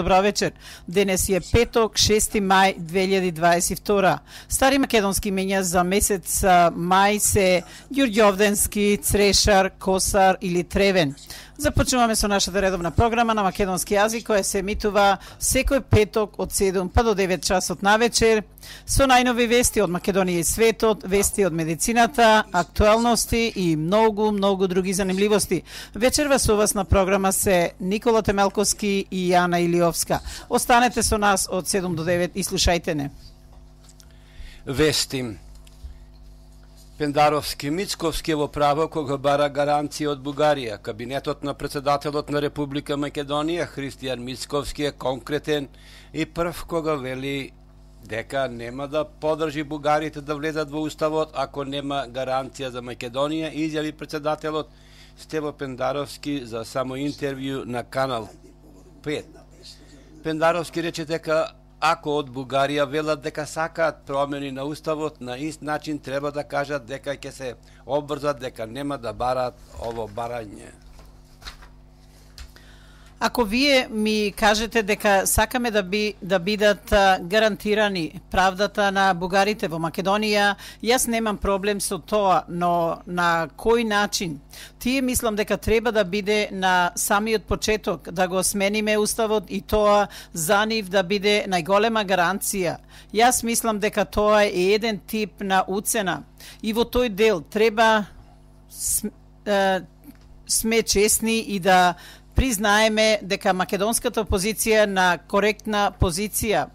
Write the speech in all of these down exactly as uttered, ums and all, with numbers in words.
Добра вечер. Денес е петок, шести мај две илјади дваесет и втора. Стари македонски имења за месец мај се Ѓурѓовденски, Црешар, Косар или Тревен. Започнуваме со нашата редовна програма на македонски јазик која се емитува секој петок од седум па до девет часот навечер со најнови вести од Македонија и светот, вести од медицината, актуелности и многу, многу други занимливости. Вечерва со вас на програма се Никола Темелковски и Јана Илиовска. Останете со нас од седум до девет и слушајте не. Вести. Пендаровски, Мицковски во право кога бара гаранција од Бугарија. Кабинетот на председателот на Република Македонија Христијан Мицковски е конкретен и прв кога вели дека нема да подржи бугарите да влезат во уставот ако нема гаранција за Македонија, изјави председателот Стево Пендаровски за само интервју на Канал пет. Пендаровски рече дека ако од Бугарија велат дека сакаат промени на уставот, на ист начин треба да кажат дека ќе се обврзат дека нема да бараат ово барање. Ако вие ми кажете дека сакаме да би да бидат гарантирани правдата на бугарите во Македонија, јас немам проблем со тоа, но на кој начин? Тие мислам дека треба да биде на самиот почеток да го смениме уставот и тоа за нив да биде најголема гаранција. Јас мислам дека тоа е еден тип на уцена и во тој дел треба сме честни и да признаеме дека македонската опозиција на коректна позиција.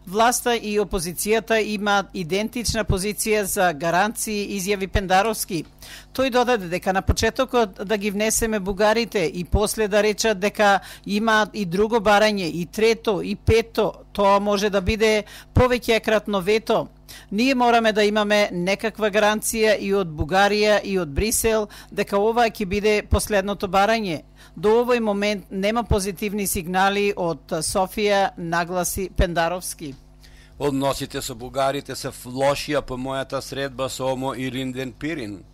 Власта и опозицијата имаат идентична позиција за гаранции, изјави Пендаровски. Тој додаде дека на почетокот да ги внесеме бугарите и после да речат дека имаат и друго барање, и трето, и пето, тоа може да биде повеќекратно вето. Ние мораме да имаме некаква гаранција и од Бугарија и од Брисел дека ова ќе биде последното барање. До овој момент нема позитивни сигнали од Софија, нагласи Пендаровски. Односите со бугарите се лошија по мојата средба со Омо и Ринден Пирин.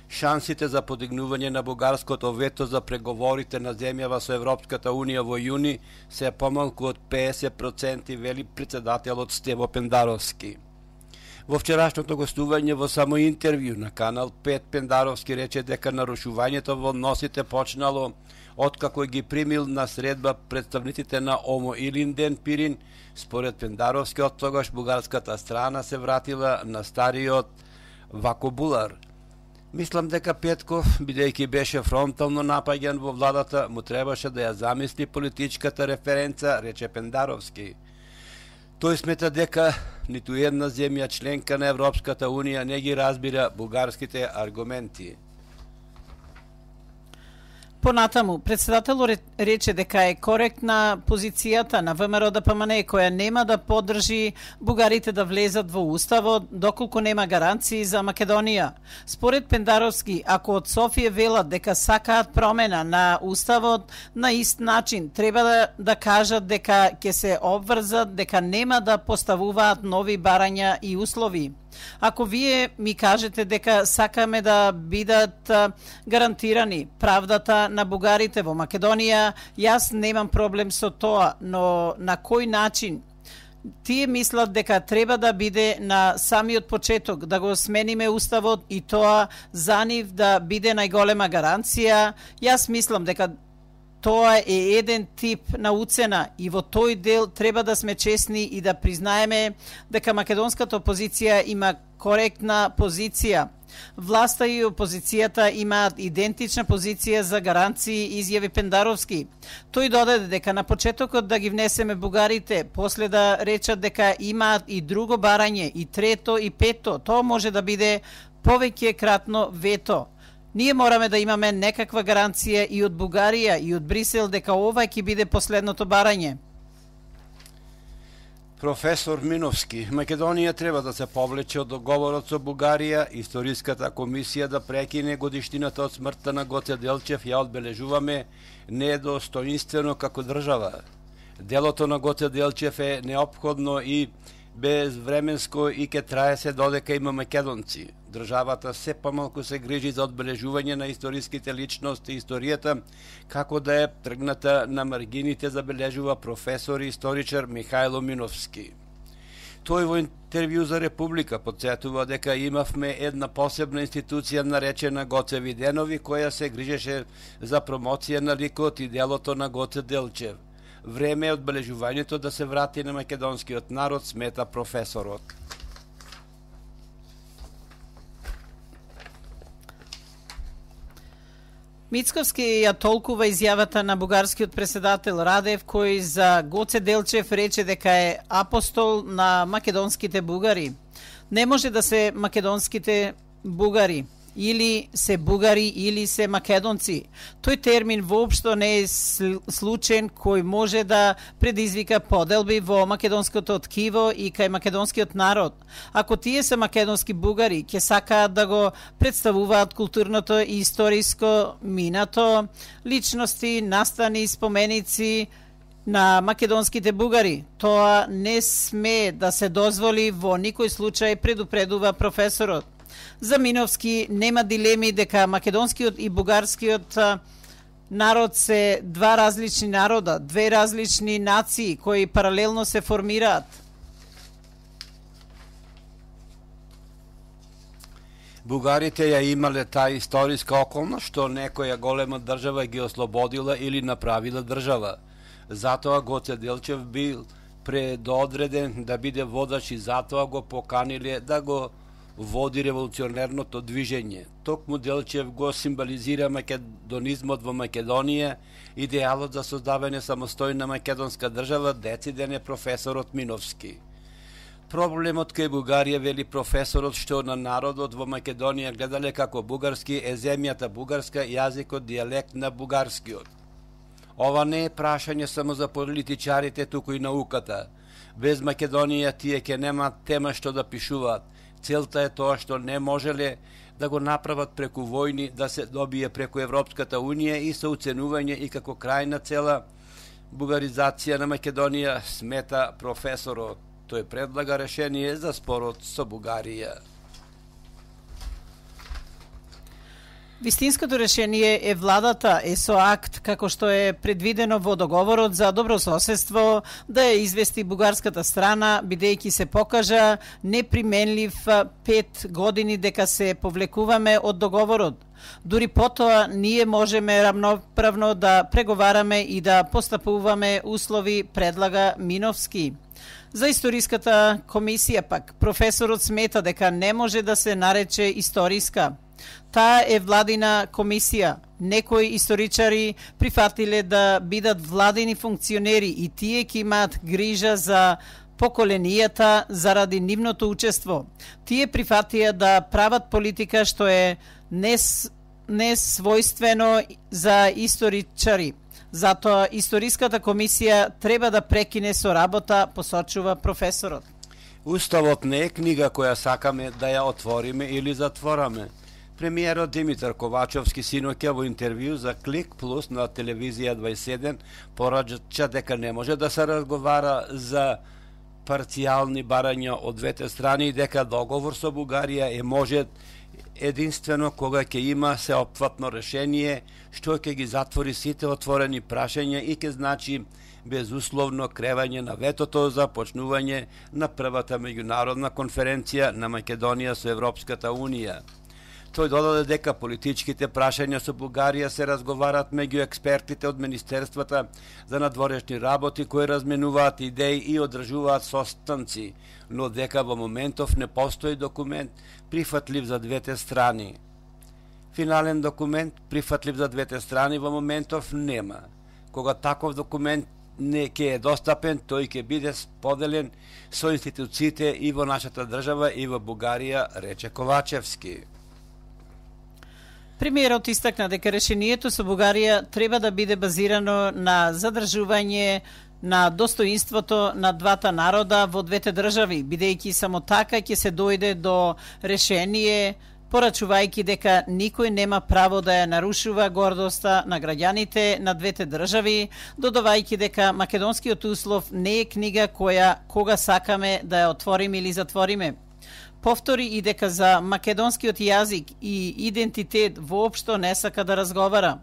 Шансите за подигнување на бугарското вето за преговорите на земјава со Европската Унија во јуни се помалку од педесет проценти, вели председателот Стево Пендаровски. Во вчерашното гостување во само интервју на Канал пет Пендаровски рече дека нарушувањето во односите почнало откако ги примил на средба представниците на Омо и Ринден Пирин. Според Пендаровски, од тогаш бугарската страна се вратила на стариот вакобулар. Мислам дека Петков, бидејќи беше фронтално напаѓан во владата, му требаше да ја замисли политичката референца, рече Пендаровски. Тој смета дека ниту една земја членка на Европската Унија не ги разбира бугарските аргументи. Понатаму, председателот рече дека е коректна позицијата на ВМРО Д П М Н која нема да поддржи бугарите да влезат во уставот доколку нема гаранции за Македонија. Според Пендаровски, ако од Софија велат дека сакаат промена на уставот, на ист начин треба да, да кажат дека ќе се обврзат дека нема да поставуваат нови барања и услови. Ако вие ми кажете дека сакаме да бидат гарантирани правдата на бугарите во Македонија, јас немам проблем со тоа, но на кој начин? Тие мислат дека треба да биде на самиот почеток да го смениме уставот и тоа за нив да биде најголема гаранција. Јас мислам дека тоа е еден тип на уцена и во тој дел треба да сме честни и да признаеме дека македонската опозиција има коректна позиција. Власта и опозицијата имаат идентична позиција за гаранции, изјави Пендаровски. Тој додаде дека на почетокот да ги внесеме бугарите, после да речат дека имаат и друго барање, и трето, и пето, тоа може да биде повеќекратно вето. Ние мораме да имаме некаква гаранција и од Бугарија и од Брисел дека ова ќе биде последното барање. Професор Миновски, Македонија треба да се повлече од договорот со Бугарија. Историската комисија да прекине годиштината од смртта на Гоце Делчев ја одбележуваме недостоинствено како држава. Делото на Гоце Делчев е неопходно и без временско и ке трае се додека има македонци. Државата се помалку се грижи за одбележување на историските личности и историјата, како да е тргната на маргините, забележува професор и историчар Михајло Миновски. Тој во интервју за Република потсетува дека имавме една посебна институција наречена Гоце Виденови, која се грижеше за промоција на ликот и делото на Гоце Делчев. Време е одбележувањето да се врати на македонскиот народ, смета професорот. Мицковски ја толкува изјавата на бугарскиот председател Радев, кој за Гоце Делчев рече дека е апостол на македонските бугари. Не може да се македонските бугари, или се бугари, или се македонци. Тој термин воопшто не е случаен кој може да предизвика поделби во македонското ткиво и кај македонскиот народ. Ако тие се македонски бугари, ќе сакаат да го представуваат културното и историско минато, личности, настани, споменици на македонските бугари. Тоа не сме да се дозволи во никој случај, предупредува професорот. За Миновски нема дилеми дека македонскиот и бугарскиот народ се два различни народа, две различни нации кои паралелно се формираат. Бугарите ја имале таа историска околност што некоја голема држава ги ослободила или направила држава. Затоа Гоце Делчев бил предодреден да биде водач и затоа го поканиле да го води револуционерното движење. Токму Делчев го символизира македонизмот во Македонија, идеалот за создавање самостојна македонска држава, дециден е професорот Миновски. Проблемот кај Бугарија, вели професорот, што на народот во Македонија гледале како бугарски е земјата бугарска, јазикот, дијалект на бугарскиот. Ова не е прашање само за политичарите, туку и науката. Без Македонија тие ќе нема тема што да пишуваат. Целта е тоа што не можеле да го направат преку војни, да се добие преку Европската Унија и со уценување и како крајна цела бугаризација на Македонија, смета професорот. Тој предлага решение за спорот со Бугарија. Вистинското решение е владата е со акт, како што е предвидено во договорот за добрососедство, да ја извести бугарската страна, бидејќи се покажа неприменлив пет години дека се повлекуваме од договорот. Дури потоа ние можеме рамноправно да преговараме и да постапуваме услови, предлага Миновски. За историската комисија пак, професорот смета дека не може да се нарече историска. Таа е владина комисија. Некои историчари прифатиле да бидат владини функционери и тие ќе имаат грижа за поколенијата заради нивното учество. Тие прифатија да прават политика што е нес, несвојствено за историчари. Затоа историската комисија треба да прекине со работа, посочува професорот. Уставот не е книга која сакаме да ја отвориме или затвораме. Премиерот Димитар Ковачовски синоќа во интервју за Клик Плюс на телевизија дваесет и седум порача дека не може да се разговара за парцијални барања од двете страни и дека договор со Бугарија е може единствено кога ќе има сеопфатно решение што ќе ги затвори сите отворени прашања и ќе значи безусловно кревање на ветото за почнување на првата меѓународна конференција на Македонија со Европската Унија. Тој додаде дека политичките прашања со Бугарија се разговарат меѓу експертите од Министерствата за надворешни работи кои разменуваат идеи и одржуваат состанци, но дека во моментов не постои документ прифатлив за двете страни. Финален документ прифатлив за двете страни во моментов нема. Кога таков документ не ќе е достапен, тој ќе биде споделен со институциите и во нашата држава и во Бугарија, рече Ковачевски. Премиерот истакна дека решението со Бугарија треба да биде базирано на задржување на достоинството на двата народа во двете држави, бидејќи само така ќе се дојде до решение порачувајќи дека никој нема право да ја нарушува гордоста на граѓаните на двете држави, додавајќи дека македонскиот услов не е книга која кога сакаме да ја отвориме или затвориме. Повтори и дека за македонскиот јазик и идентитет воопшто не сака да разговара.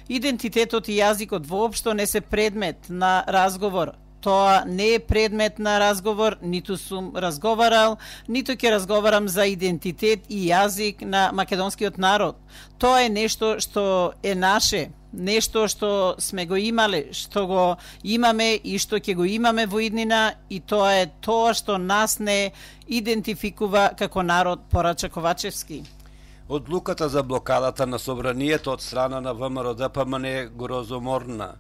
Идентитетот и јазикот воопшто не се предмет на разговор. Тоа не е предмет на разговор, ниту сум разговарал, ниту ќе разговарам за идентитет и јазик на македонскиот народ. Тоа е нешто што е наше, нешто што сме го имале, што го имаме и што ќе го имаме во иднина, и тоа е тоа што нас не идентификува како народ, порача Ковачевски. Одлуката за блокадата на собранието од страна на ВМРО-ДПМН е грозоморна.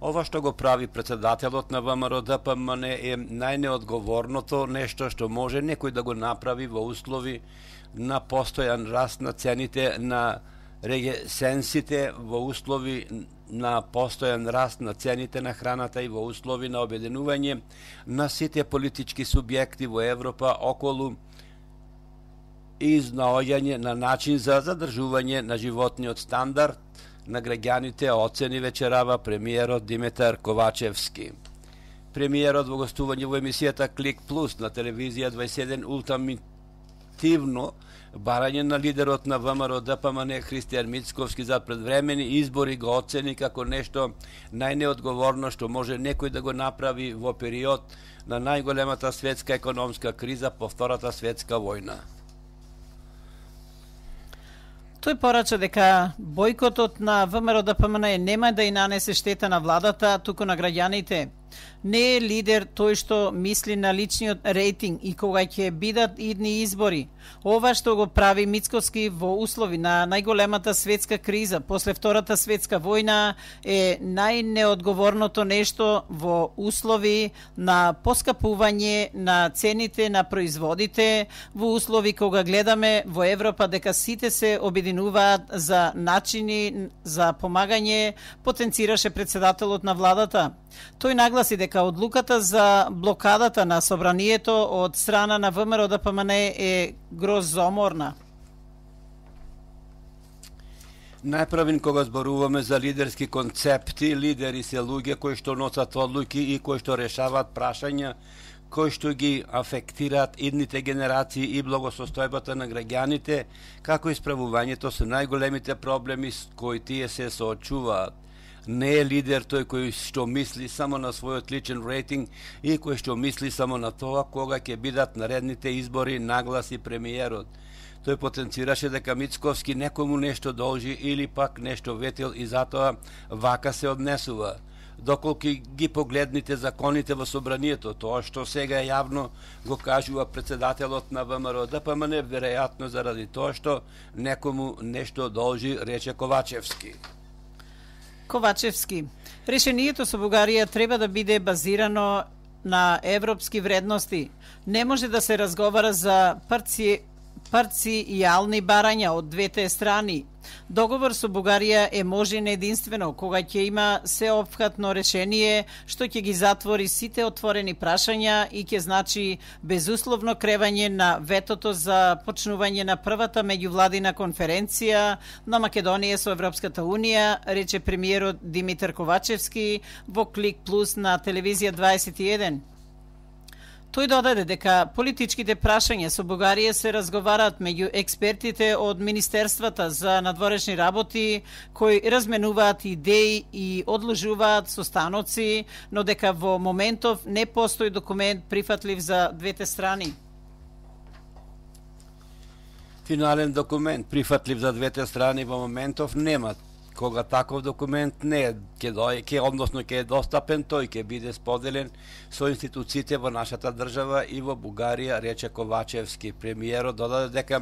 Ова што го прави председателот на ВМРО-ДПМН е најнеодговорното нешто што може некој да го направи во услови на постојан раст на цените на регесенсите, во услови на постојан раст на цените на храната и во услови на обединување на сите политички субјекти во Европа околу изнаоѓање на начин за задржување на животниот стандард на граѓаните, оцени вечерава премиерот Димитар Ковачевски. Премиерот во гостување во емисијата Клик Плюс на телевизија двајсет и еден ултимативно барање на лидерот на ВМРО-ДПМН Христијан Мицковски за предвремени избори го оцени како нешто најнеодговорно што може некој да го направи во период на најголемата светска економска криза по Втората светска војна. Тој порача дека бојкотот на ВМРО-ДПМН нема да и нанесе штета на владата, туку на граѓаните. Не е лидер тој што мисли на личниот рейтинг и кога ќе бидат идни избори. Ова што го прави Мицковски во услови на најголемата светска криза после Втората светска војна е најнеодговорното нешто во услови на поскапување на цените на производите, во услови кога гледаме во Европа дека сите се обединуваат за начини за помагање, потенцираше председателот на владата. Тој нагласи дека одлуката за блокадата на собранието од страна на ВМРО-ДПМН е грозоморна. Најправин кога зборуваме за лидерски концепти, лидери се луѓе кои што носат одлуки и кои што решаваат прашања кои што ги афектираат идните генерации и благосостојбата на граѓаните, како исправувањето со најголемите проблеми с кои тие се соочуваат. Не е лидер тој кој што мисли само на својот личен рейтинг и кој што мисли само на тоа кога ќе бидат наредните избори, нагласи премиерот. Тој потенцираше дека Мицковски некому нешто должи или пак нешто ветил и затоа вака се однесува. Доколку ги погледните законите во собранието, тоа што сега јавно го кажува председателот на ВМРО-ДПМН, веројатно заради тоа што некому нешто должи, рече Ковачевски. Ковачевски. Решението со Бугарија треба да биде базирано на европски вредности. Не може да се разговара за парци... парцијални барања од двете страни. Договор со Бугарија е можен единствено кога ќе има сеопфатно решение што ќе ги затвори сите отворени прашања и ќе значи безусловно кревање на ветото за почнување на првата меѓувладина конференција на Македонија со Европската унија, рече премиерот Димитар Ковачевски во Клик Плюс на телевизија двајсет и еден. Тој додаде дека политичките прашања со Бугарија се разговараат меѓу експертите од Министерствата за надворешни работи, кои разменуваат идеи и одложуваат состаноци, но дека во моментов не постои документ прифатлив за двете страни. Финален документ прифатлив за двете страни во моментов нема. Кога таков документ не е, ќе дој, ќе односно ќе е достапен, тој ќе биде споделен со институциите во нашата држава и во Бугарија, рече Ковачевски. Премиерот додаде дека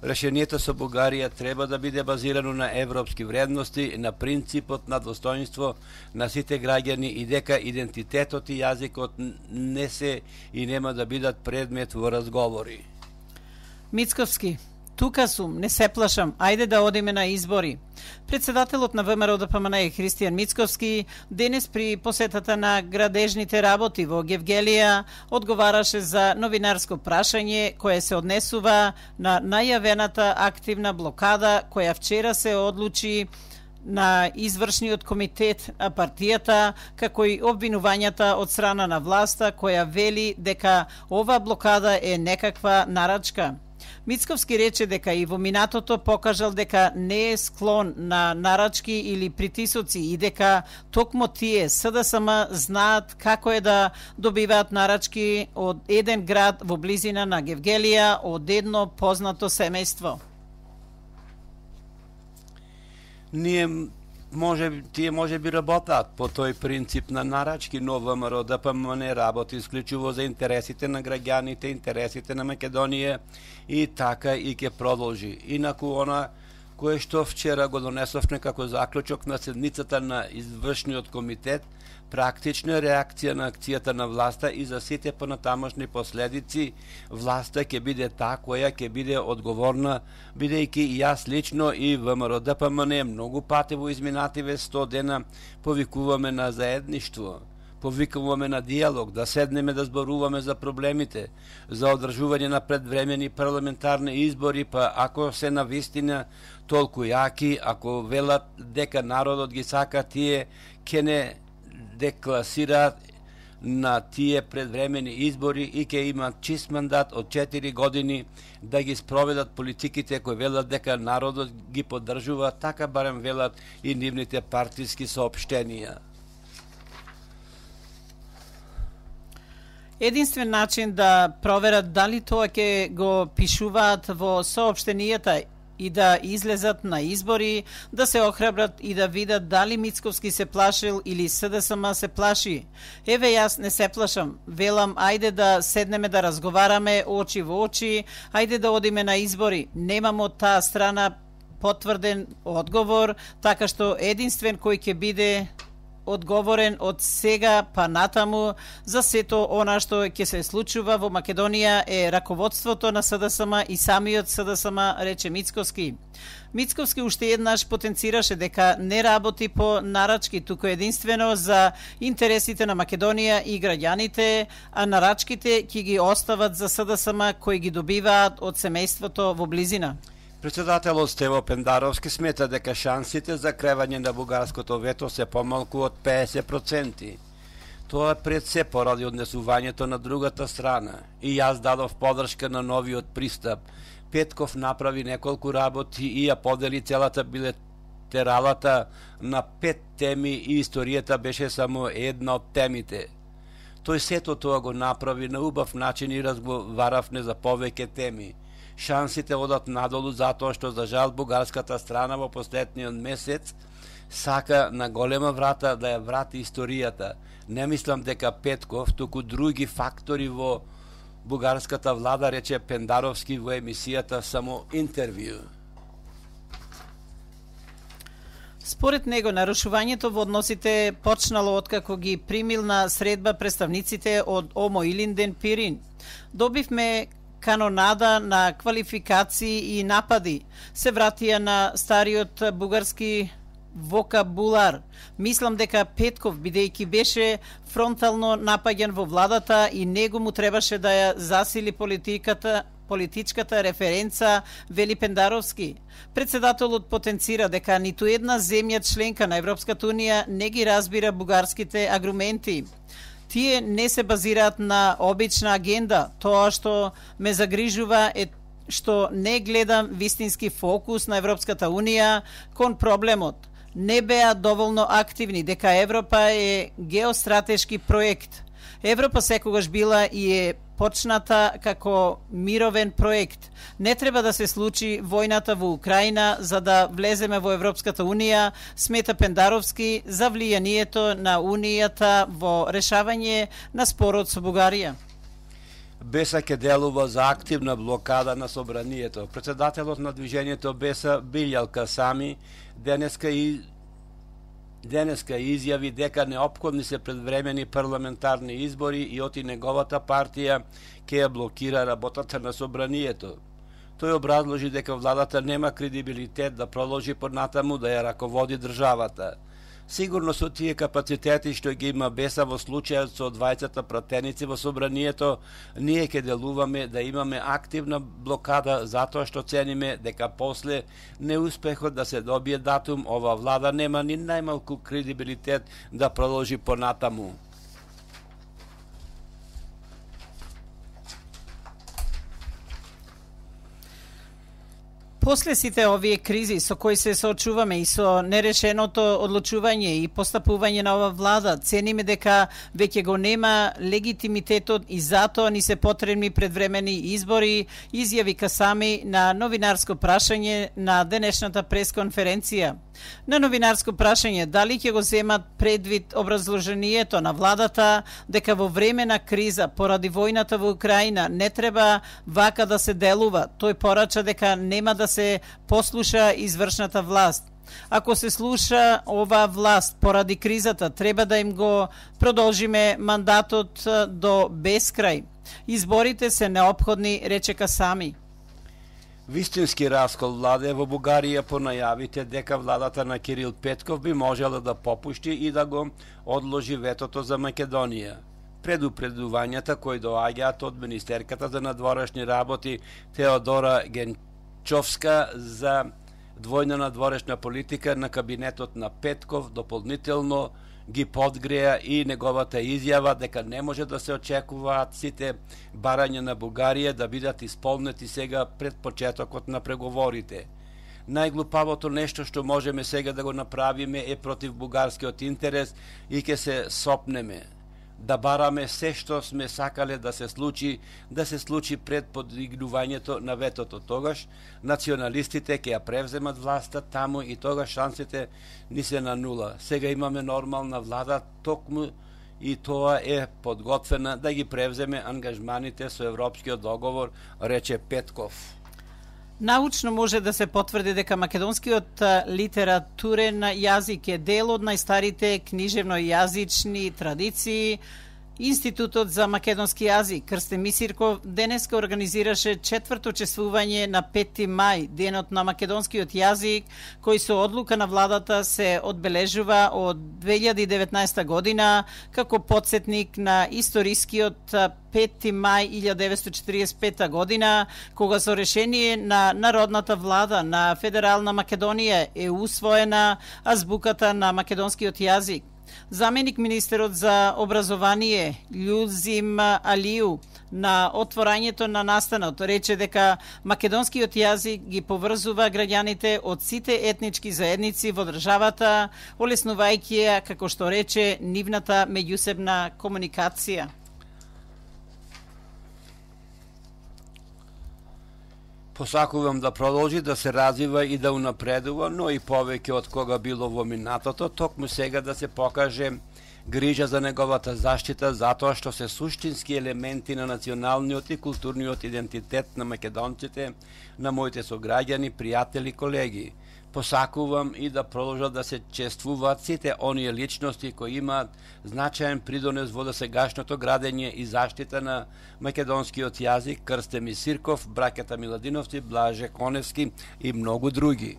решението со Бугарија треба да биде базирано на европски вредности, на принципот на достоинство на сите граѓани и дека идентитетот и јазикот не се и нема да бидат предмет во разговори. Мицковски. Тука сум, не се плашам, ајде да одиме на избори. Председателот на ВМРО Д П М Н Христијан Мицковски денес при посетата на градежните работи во Гевгелија одговараше за новинарско прашање кое се однесува на најавената активна блокада која вчера се одлучи на извршниот комитет на партијата, како и обвинувањата од страна на власта која вели дека ова блокада е некаква нарачка. Мицковски рече дека и во минатото покажал дека не е склон на нарачки или притисоци и дека токму тие С Д С М знаат како е да добиваат нарачки од еден град во близина на Гевгелија од едно познато семејство. Ние може тие може би работат по тој принцип на нарачки, но ВМРО Д П М Н работи исклучиво за интересите на граѓаните, интересите на Македонија и така и ќе продолжи. Инаку она кое што вчера го донесовме како заклучок на седницата на извршниот комитет, практична реакција на акцијата на власта и за сите понатамошни последици, власта ќе биде таа која ќе биде одговорна, бидејќи и јас лично и ВМРО Д П М Н многу пати во изминативе сто дена повикуваме на заедништво, повикуваме на диалог, да седнеме да зборуваме за проблемите, за одржување на предвремени парламентарни избори, па ако се навистина толку јаки, ако велат дека народот ги сака тие, ќе не декласираат на тие предвремени избори и ќе имаат чист мандат од четири години да ги спроведат политиките кои велат дека народот ги поддржува, така барем велат и нивните партиски соопштенија. Единствен начин да проверат дали тоа ќе го пишуваат во соопштенијата и да излезат на избори, да се охрабрат и да видат дали Мицковски се плашил или С Д С М се плаши. Еве јас не се плашам, велам ајде да седнеме да разговараме очи во очи, ајде да одиме на избори. Немам од таа страна потврден одговор, така што единствен кој ќе биде одговорен од сега па натаму за сето она што ќе се случува во Македонија е раководството на С Д С М и самиот С Д С М, рече Мицковски. Мицковски уште еднаш потенцираше дека не работи по нарачки, туку единствено за интересите на Македонија и граѓаните, а нарачките ќе ги остават за С Д С М кои ги добиваат од семејството во близина. Председателот Стево Пендаровски смета дека шансите за кревање на бугарското вето се помалку од педесет проценти. Тоа пред се поради однесувањето на другата страна. И јас дадов поддршка на новиот пристап. Петков направи неколку работи и ја подели целата билетералата на пет теми и историјата беше само една од темите. Тој сето тоа го направи на убав начин и разговаравме за повеќе теми. Шансите одат надолу затоа што за жал бугарската страна во последниот месец сака на голема врата да ја врати историјата. Не мислам дека Петков, туку други фактори во бугарската влада, рече Пендаровски во емисијата Само интервју. Според него, нарушувањето во односите почнало откако ги примил на средба представниците од Омо Илинден Пирин. Добивме канонада на квалификации и напади. Се вратија на стариот бугарски вокабулар. Мислам дека Петков, бидејќи беше фронтално напаѓан во владата и него му требаше да ја засили политиката, политичката референца, вели Пендаровски. Председателот потенцира дека ниту една земја членка на Европската унија не ги разбира бугарските аргументи. Тие не се базираат на обична агенда. Тоа што ме загрижува е што не гледам вистински фокус на Европската унија кон проблемот. Не беа доволно активни дека Европа е геостратешки проект. Европа секогаш била и е почната како мировен проект. Не треба да се случи војната во Украина за да влеземе во Европската унија, смета Пендаровски за влијанието на унијата во решавање на спорот со Бугарија. Беса ќе делува за активна блокада на собранието. Председателот на движењето Беса Билјал Касами денеска и Денеска изјави дека неопходни се предвремени парламентарни избори и оти неговата партија ќе ја блокира работата на собранието. Тој образложи дека владата нема кредибилитет да продолжи понатаму да ја раководи државата. Сигурно со тие капацитети што ги има Беса во случајот со двајцата пратеници во собранието, ние ќе делуваме да имаме активна блокада затоа што цениме дека после неуспехот да се добие датум, ова влада нема ни најмалку кредибилитет да продолжи понатаму. После сите овие кризи со кои се соочуваме и со нерешеното одлучување и постапување на ова влада, цениме дека веќе го нема легитимитетот и затоа ни се потребни предвремени избори, изјави Касами на новинарско прашање на денешната пресконференција. На новинарско прашање дали ќе го земат предвид образложението на владата дека во време на криза поради војната во Украина не треба вака да се делува, тој порача дека нема да се послуша извршната власт. Ако се слуша оваа власт поради кризата, треба да им го продолжиме мандатот до бескрај. Изборите се неопходни, рече Касами. Вистински раскол владе во Бугарија по најавите дека владата на Кирил Петков би можела да попушти и да го одложи ветото за Македонија. Предупредувањата кои доаѓаат од министерката за надворешни работи Теодора Генчовска за двојна надворешна политика на кабинетот на Петков дополнително ги подгреа и неговата изјава дека не може да се очекуваат сите барања на Бугарија да бидат исполнети сега пред почетокот на преговорите. Најглупавото нешто што можеме сега да го направиме е против бугарскиот интерес и ќе се сопнеме. Да бараме се што сме сакале да се случи, да се случи пред подигнувањето на ветото. Тогаш националистите ќе ја превземат власта таму и тогаш шансите ни се на нула. Сега имаме нормална влада, токму и тоа е подготвена да ги превземе ангажманите со Европскиот договор, рече Петков. Научно може да се потврди дека македонскиот литературен јазик е дел од најстарите книжевно-јазични традиции. Институтот за македонски јазик Крстен Мисирков денеска организираше четврто чествување на пети мај, денот на македонскиот јазик, кој со одлука на владата се одбележува од две илјади и деветнаесета година како потсетник на историскиот пети мај илјадесетстотини деветдесет и четиридесет и пета година, кога со решение на Народната влада на Федерална Македонија е усвоена азбуката на македонскиот јазик. Заменик министерот за образование Љузим Алију на отворањето на настанот рече дека македонскиот јазик ги поврзува граѓаните од сите етнички заедници во државата, олеснувајќи ја, како што рече, нивната меѓусебна комуникација. Посакувам да продолжи да се развива и да унапредува, но и повеќе од кога било во минатото, токму сега да се покаже грижа за неговата заштита, затоа што се суштински елементи на националниот и културниот идентитет на македонците, на моите сограѓани, пријатели, колеги. Посакувам и да продолжат да се чествуваат сите оние личности кои имаат значаен придонес во досегашното градење и заштита на македонскиот јазик, Крстен Мисирков, браќата Миладиновци, Блаже Коневски и многу други.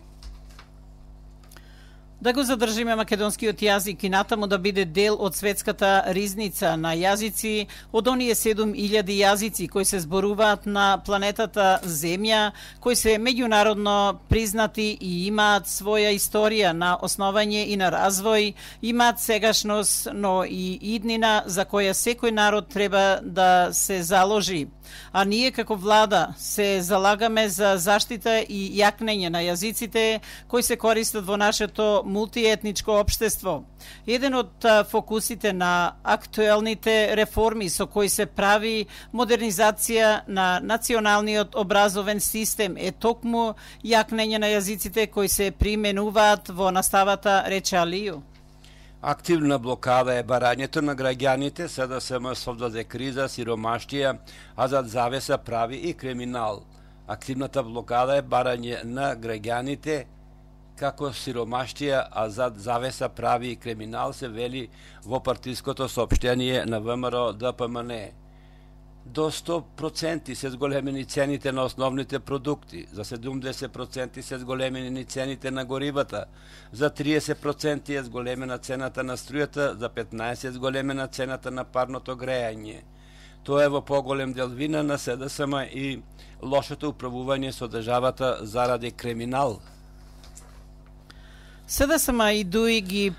Да го задржиме македонскиот јазик и натаму да биде дел од светската ризница на јазици, од оние седум илјади јазици кои се зборуваат на планетата Земја, кои се меѓународно признати и имаат своја историја на основање и на развој, имаат сегашност, но и иднина за која секој народ треба да се заложи. А ние како влада се залагаме за заштита и јакнење на јазиците кои се користат во нашето мултиетничко општество. Еден од фокусите на актуелните реформи со кои се прави модернизација на националниот образовен систем е токму јакнење на јазиците кои се применуваат во наставата, рече Алију. Активна блокада е барањето на граѓаните, СДСМ совдаде криза, сиромаштија, а зад завеса прави и криминал. Активната блокада е барање на граѓаните како сиромаштија, а зад завеса прави и криминал, се вели во партиското соопштение на ВМРО ДПМН. До сто проценти се зголемени цените на основните продукти, за седумдесет проценти се зголемени цените на горивата, за триесет проценти е зголемена цената на струјата, за петнаесет проценти е зголемена цената на парното грејање. Тоа е во поголем дел вина на СДСМ и лошото управување со државата заради криминал. СДСМ и ДУИ ги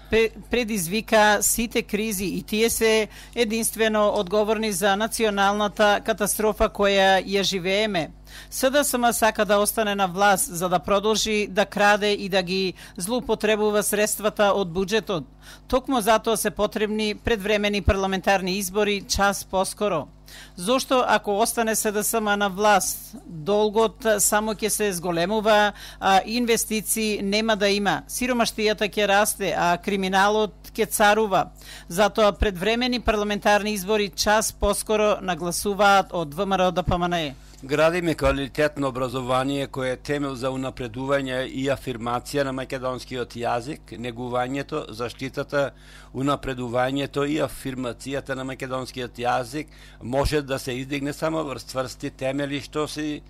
предизвика сите кризи и тие се единствено одговорни за националната катастрофа која ја живееме. СДСМ сака да остане на власт за да продолжи да краде и да ги злоупотребува средствата од буџетот. Токму затоа се потребни предвремени парламентарни избори час поскоро. Зошто ако остане СДСМ на власт, долгот само ќе се зголемува, а инвестиции нема да има. Сиромаштијата ќе расте, а криминалот ќе царува. Затоа предвремени парламентарни избори час поскоро нагласуваат од ВМРО Д П М Н Е. Градиме квалитетно образование кое е темел за унапредување и афирмација на македонскиот јазик, негувањето, заштитата, унапредувањето и афирмацијата на македонскиот јазик може да се издигне само врз цврсти темели што се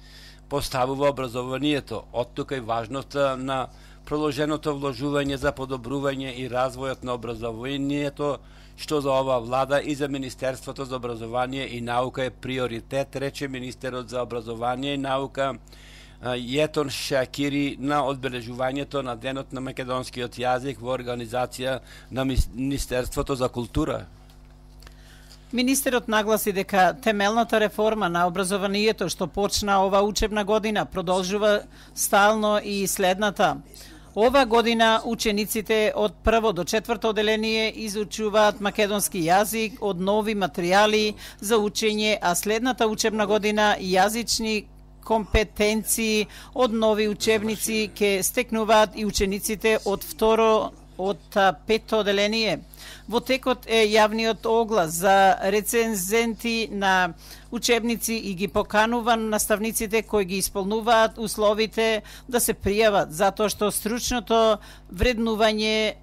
поставува образованието. Оттука и важноста на продолженото вложување за подобрување и развојот на образованието, што за ова влада и за Министерството за образование и наука е приоритет, рече министерот за образование и наука Јетон Шакири на одбележувањето на Денот на македонскиот јазик во организација на Министерството за култура. Министерот нагласи дека темелната реформа на образованието што почна ова учебна година продолжува стално и следната. Ова година учениците од прво до четврто оделение изучуваат македонски јазик од нови материјали за учење, а следната учебна година јазични компетенции од нови учебници ќе стекнуваат и учениците од второ од петто оделение. Во текот е јавниот оглас за рецензенти на учебници и ги поканува наставниците кои ги исполнуваат условите да се пријават, затоа што стручното вреднување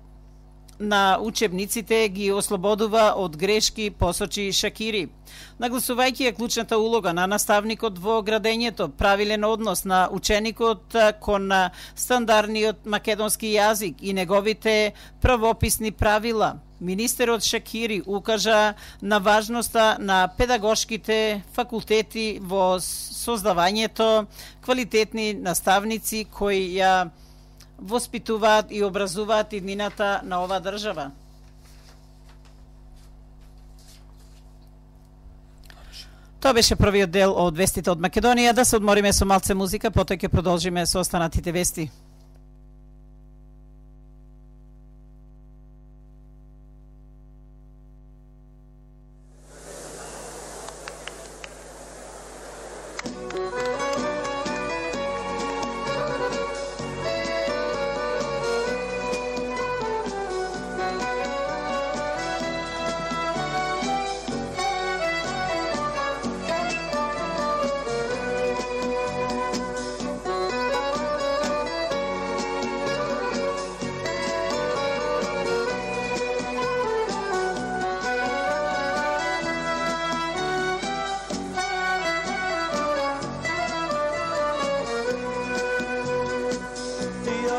на учебниците ги ослободува од грешки, посочи Шакири. Нагласувајќи ја клучната улога на наставникот во градењето, правилен однос на ученикот кон стандардниот македонски јазик и неговите правописни правила, министерот Шакири укажа на важноста на педагошките факултети во создавањето квалитетни наставници кои ја воспитуваат и образуваат иднината на оваа држава. Тоа беше првиот дел од вестите од Македонија. Да се одмориме со малце музика, потоа ќе продолжиме со останатите вести.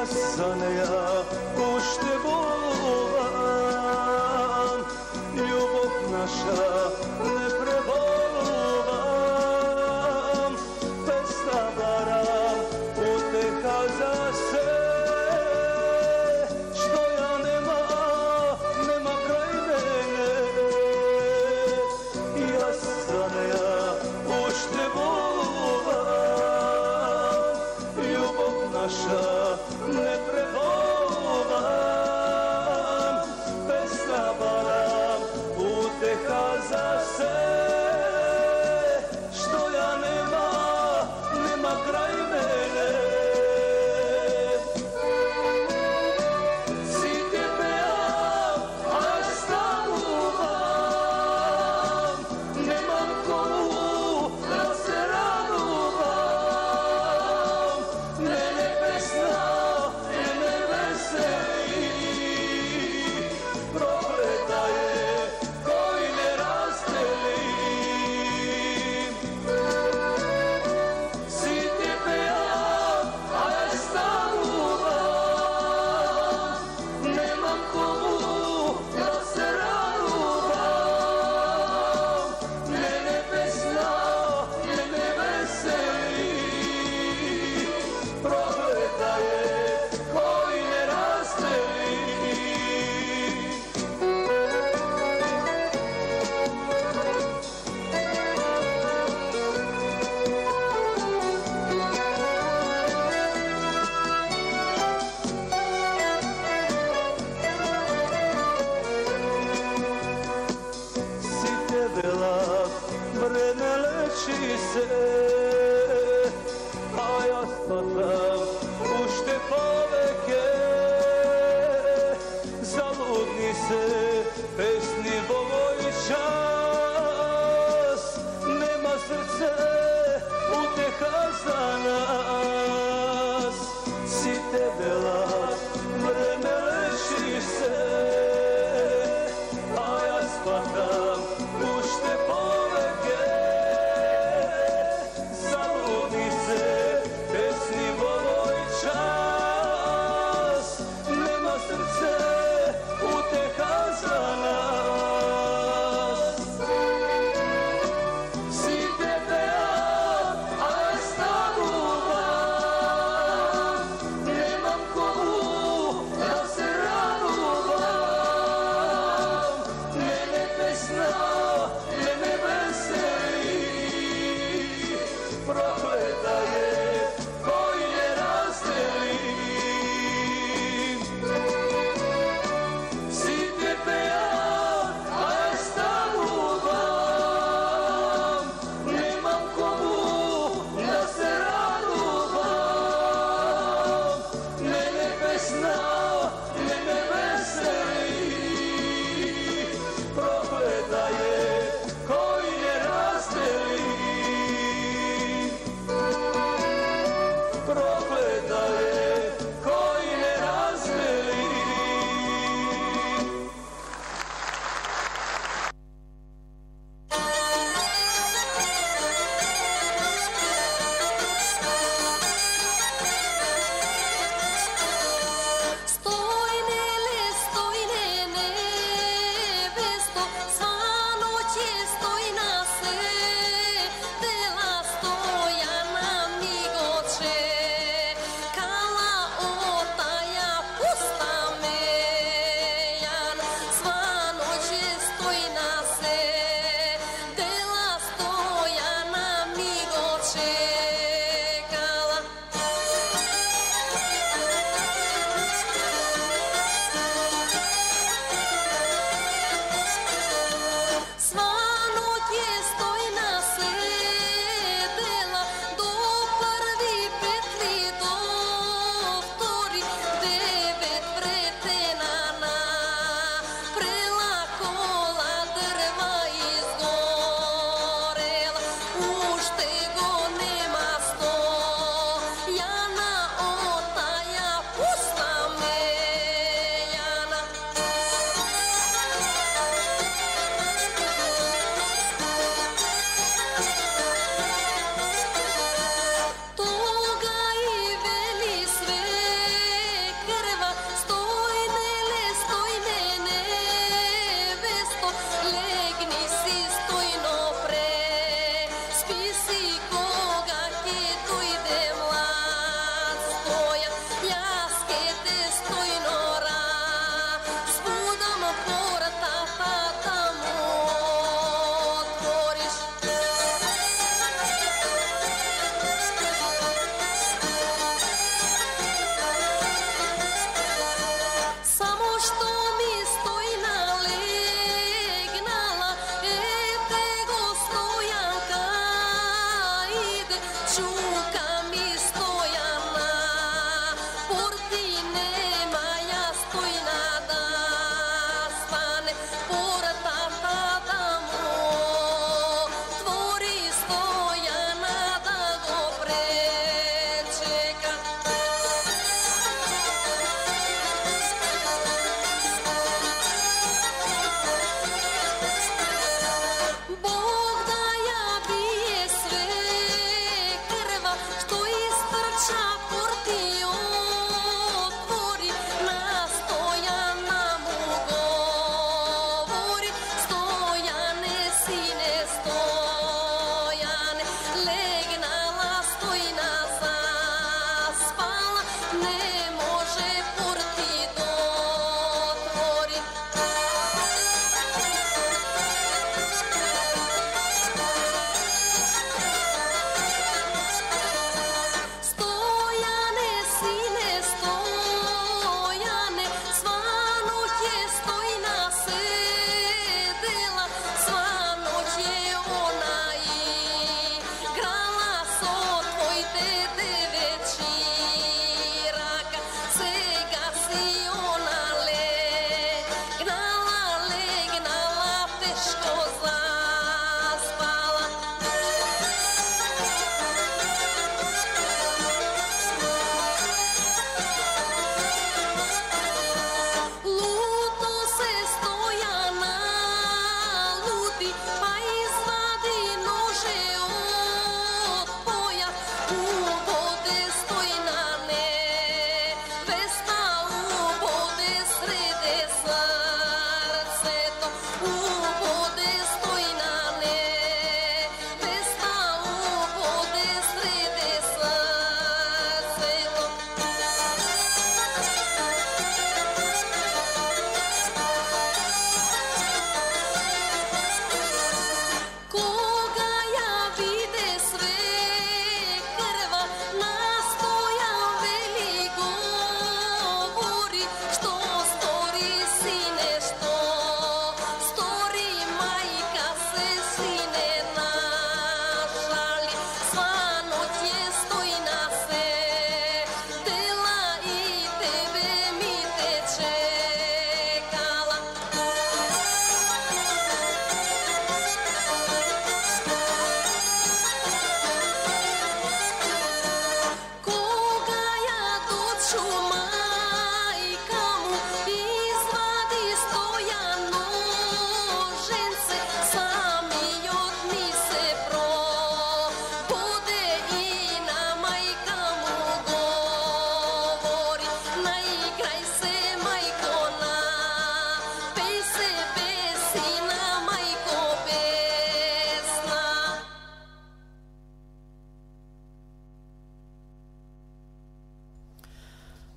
Yes. лечи се, а јас фатам уште повеќе. Залудни се песни во мој час, нема срце утеха за нас. Сите велат време лечи се, а јас фатам уште повеќе. Залудни се песни во мој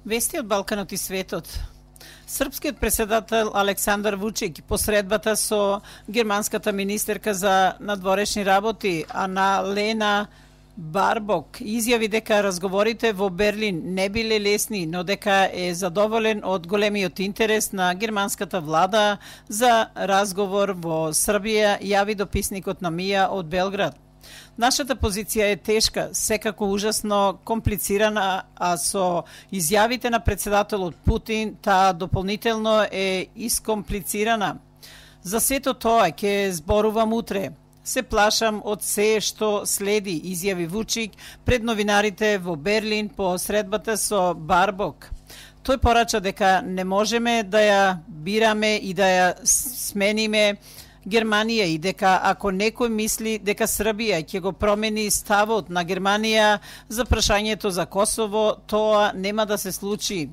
Вести од Балканот и светот. Српскиот председател Александар Вучик посредбата со германската министерка за надворешни работи Ана Лена Барбок изјави дека разговорите во Берлин не биле лесни, но дека е задоволен од големиот интерес на германската влада за разговор во Србија, јави дописникот на Мија од Белград. Нашата позиција е тешка, секако ужасно комплицирана, а со изјавите на председателот Путин таа дополнително е искомплицирана. За сето тоа ќе зборувам утре. Се плашам од се што следи, изјави Вучик пред новинарите во Берлин по средбата со Барбок. Тој порача дека не можеме да ја бираме и да ја смениме Германија и дека ако некој мисли дека Србија ќе го промени ставот на Германија за прашањето за Косово, тоа нема да се случи.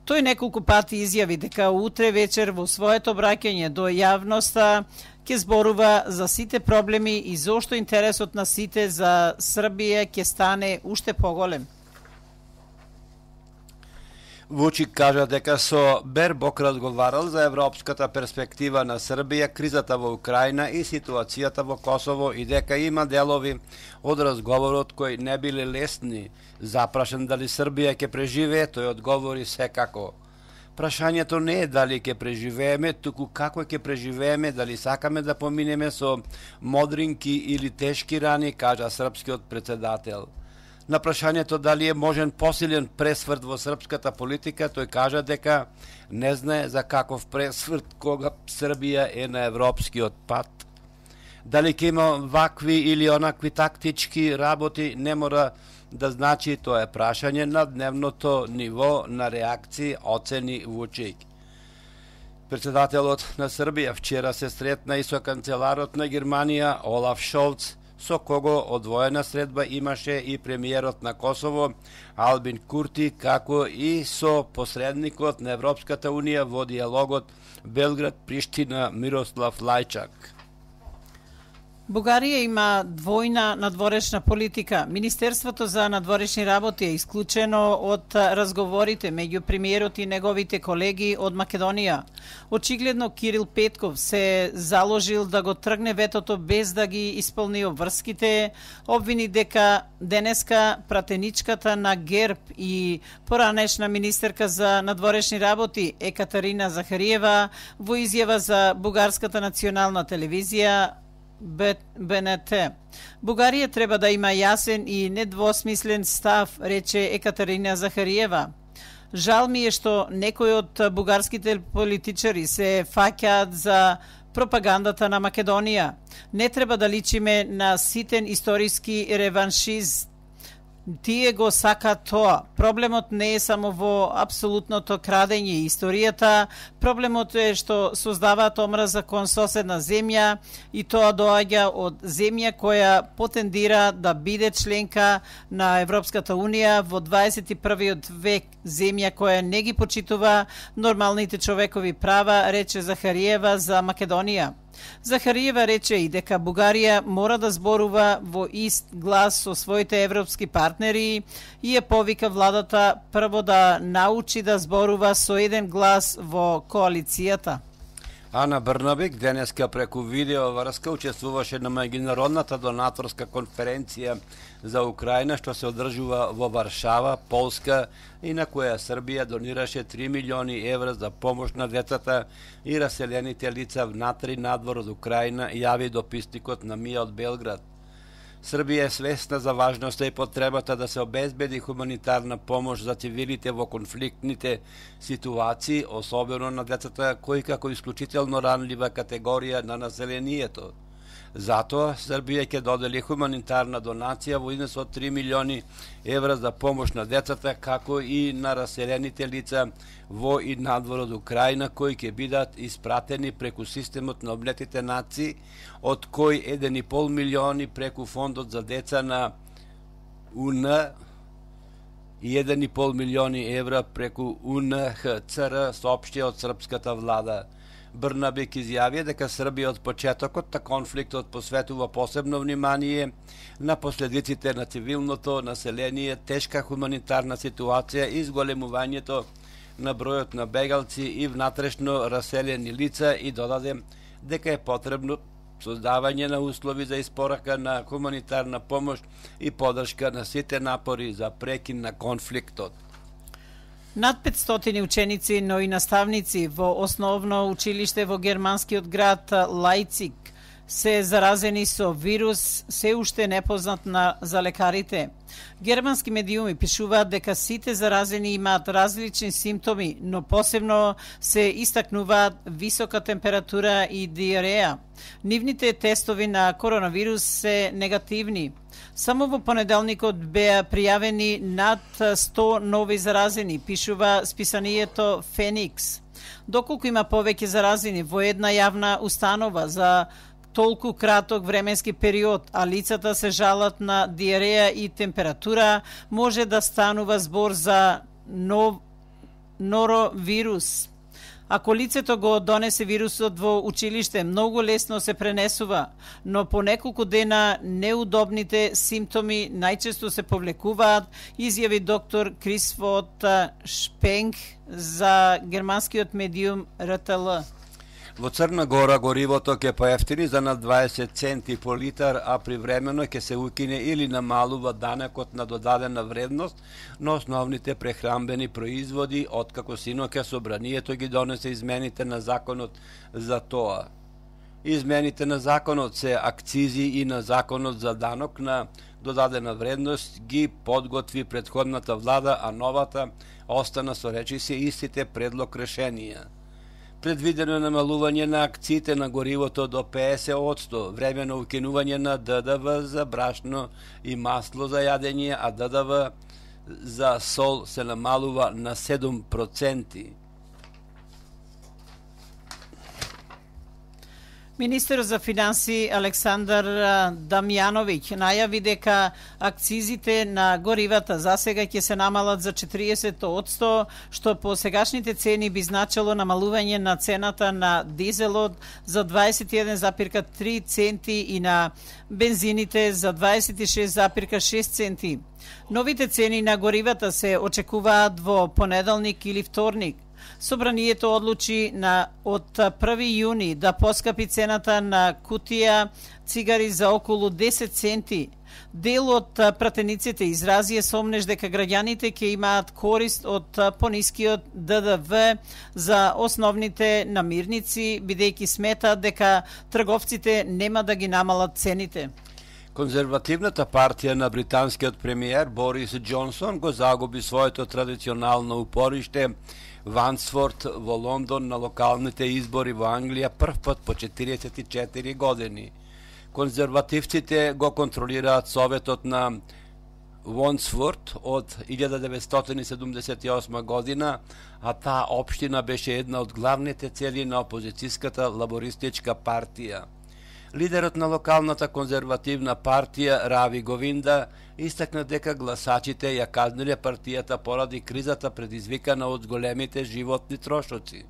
Тој неколку пати изјави дека утре вечер во своето обраќање до јавноста ќе зборува за сите проблеми и зошто интересот на сите за Србија ќе стане уште поголем. Вучик кажа дека со Бербок разговарал за европската перспектива на Србија, кризата во Украина и ситуацијата во Косово и дека има делови од разговорот кои не биле лесни. Запрашен дали Србија ќе преживее, тој одговори секако. Прашањето не е дали ќе преживееме, туку како ќе преживееме, дали сакаме да поминеме со модринки или тешки рани, кажа српскиот председател. На прашањето дали е можен посилен пресврт во српската политика, тој кажа дека не знае за каков пресврт кога Србија е на европскиот пат. Дали ќе има вакви или онакви тактички работи, не мора да значи, тоа е прашање на дневното ниво на реакции, оцени Вучик. Председателот на Србија вчера се сретна и со канцеларот на Германија Олаф Шолц, со кого одвоена средба имаше и премиерот на Косово Албин Курти, како и со посредникот на Европската унија во диалогот Белград-Приштина Мирослав Лајчак. Бугарија има двојна надворешна политика. Министерството за надворешни работи е исклучено од разговорите меѓу премиерот и неговите колеги од Македонија. Очигледно Кирил Петков се заложил да го тргне ветото без да ги исполни обврските, обвини дека денеска пратеничката на ГЕРБ и поранешна министерка за надворешни работи Екатерина Захариева во изјава за Бугарската национална телевизија Б Н Т. Бугарија треба да има јасен и недвосмислен став, рече Екатерина Захариева. Жал ми е што некои од бугарските политичари се фаќаат за пропагандата на Македонија. Не треба да личиме на ситен историски реваншист. Тие го сака тоа. Проблемот не е само во апсолутното крадење историјата, проблемот е што создаваат омраза кон соседна земја и тоа доаѓа од земја која потендира да биде членка на Европската унија во дваесет и првиот век, земја која не ги почитува нормалните човекови права, рече Захариева за Македонија. Захариева рече и дека Бугарија мора да зборува во ист глас со своите европски партнери и е повика владата прво да научи да зборува со еден глас во коалицијата. Ана Брнабик денеска преку видео врска учествуваше на меѓународната донаторска конференција за Украина што се одржува во Варшава, Полска, и на која Србија донираше три милиони евра за помош на децата и раселените лица внатре и надвор од Украина, јави дописникот на Мија од Белград. Србија е свесна за важноста и потребата да се обезбеди хуманитарна помош за цивилите во конфликтните ситуации, особено на децата кои како исклучително ранлива категорија на населението. Затоа Србија ќе додели хуманитарна донација во износ од три милиони евра за помош на децата, како и на раселените лица во и надвор од Украина, кои ќе бидат испратени преку системот на Обединетите нации, од кои еден и пол милиони преку фондот за деца на У Н и еден и пол милиони евра преку У Н Х Ц Р, соопшти од српската влада. Брнабик изјави дека Србија од почетокот на конфликтот посветува посебно внимание на последиците на цивилното население, тешка хуманитарна ситуација и зголемувањето на бројот на бегалци и внатрешно раселени лица и додаде дека е потребно создавање на услови за испорака на хуманитарна помош и поддршка на сите напори за прекин на конфликтот. Над петстотини ученици, но и наставници во основно училиште во германскиот град Лајциг се заразени со вирус се уште непознат на за лекарите. Германски медиуми пишуваат дека сите заразени имаат различни симптоми, но посебно се истакнуваат висока температура и диареја. Нивните тестови на коронавирус се негативни. Само во понеделникот беа пријавени над сто нови заразени, пишува списанието Феникс. Доколку има повеќе заразени во една јавна установа за толку краток временски период, а лицата се жалат на диареја и температура, може да станува збор за нов норовирус. Ако лицето го донесе вирусот во училиште, многу лесно се пренесува, но по неколку дена неудобните симптоми најчесто се повлекуваат, изјави доктор Крисфот Шпенг за германскиот медиум Р Т Л. Во Црна Гора горивото ќе поевтини за над дваесет центи по литар, а привремено ќе се укине или намалува данекот на додадена вредност на основните прехранбени производи, откако синоќа собранието ги донесе измените на законот за тоа. Измените на законот се акцизи и на законот за данок на додадена вредност ги подготви претходната влада, а новата остана со речиси истите предлог решенија. Предвидено намалување на акците на горивото до петдесет одсто, времено укинување на Д Д В за брашно и масло за јадење, а Д Д В за сол се намалува на седум проценти. Министерот за финансии Александар Дамјановиќ најави дека акцизите на горивата засега ќе се намалат за четириесет одсто, што по сегашните цени би значило намалување на цената на дизелот за дваесет и еден запирка три центи и на бензините за дваесет и шест запирка шест центи. Новите цени на горивата се очекуваат во понеделник или вторник. Собранието одлучи на од први јуни да поскапи цената на кутија цигари за околу десет центи. Дел од пратениците изразија сомнеж дека граѓаните ќе имаат корист од понискиот Д Д В за основните намирници, бидејќи сметаат дека трговците нема да ги намалат цените. Конзервативната партија на британскиот премиер Борис Џонсон го загуби своето традиционално упориште Вансфорд во Лондон на локалните избори во Англија прв пат по четириесет и четири години. Конзервативците го контролираат советот на Вонсфорд од илјада деветстотини седумдесет и осма година, а таа општина беше една од главните цели на опозицијската лабористичка партија. Лидерот на локалната конзервативна партија Рави Говинда истакна дека гласачите ја казниле партијата поради кризата предизвикана од големите животни трошоци.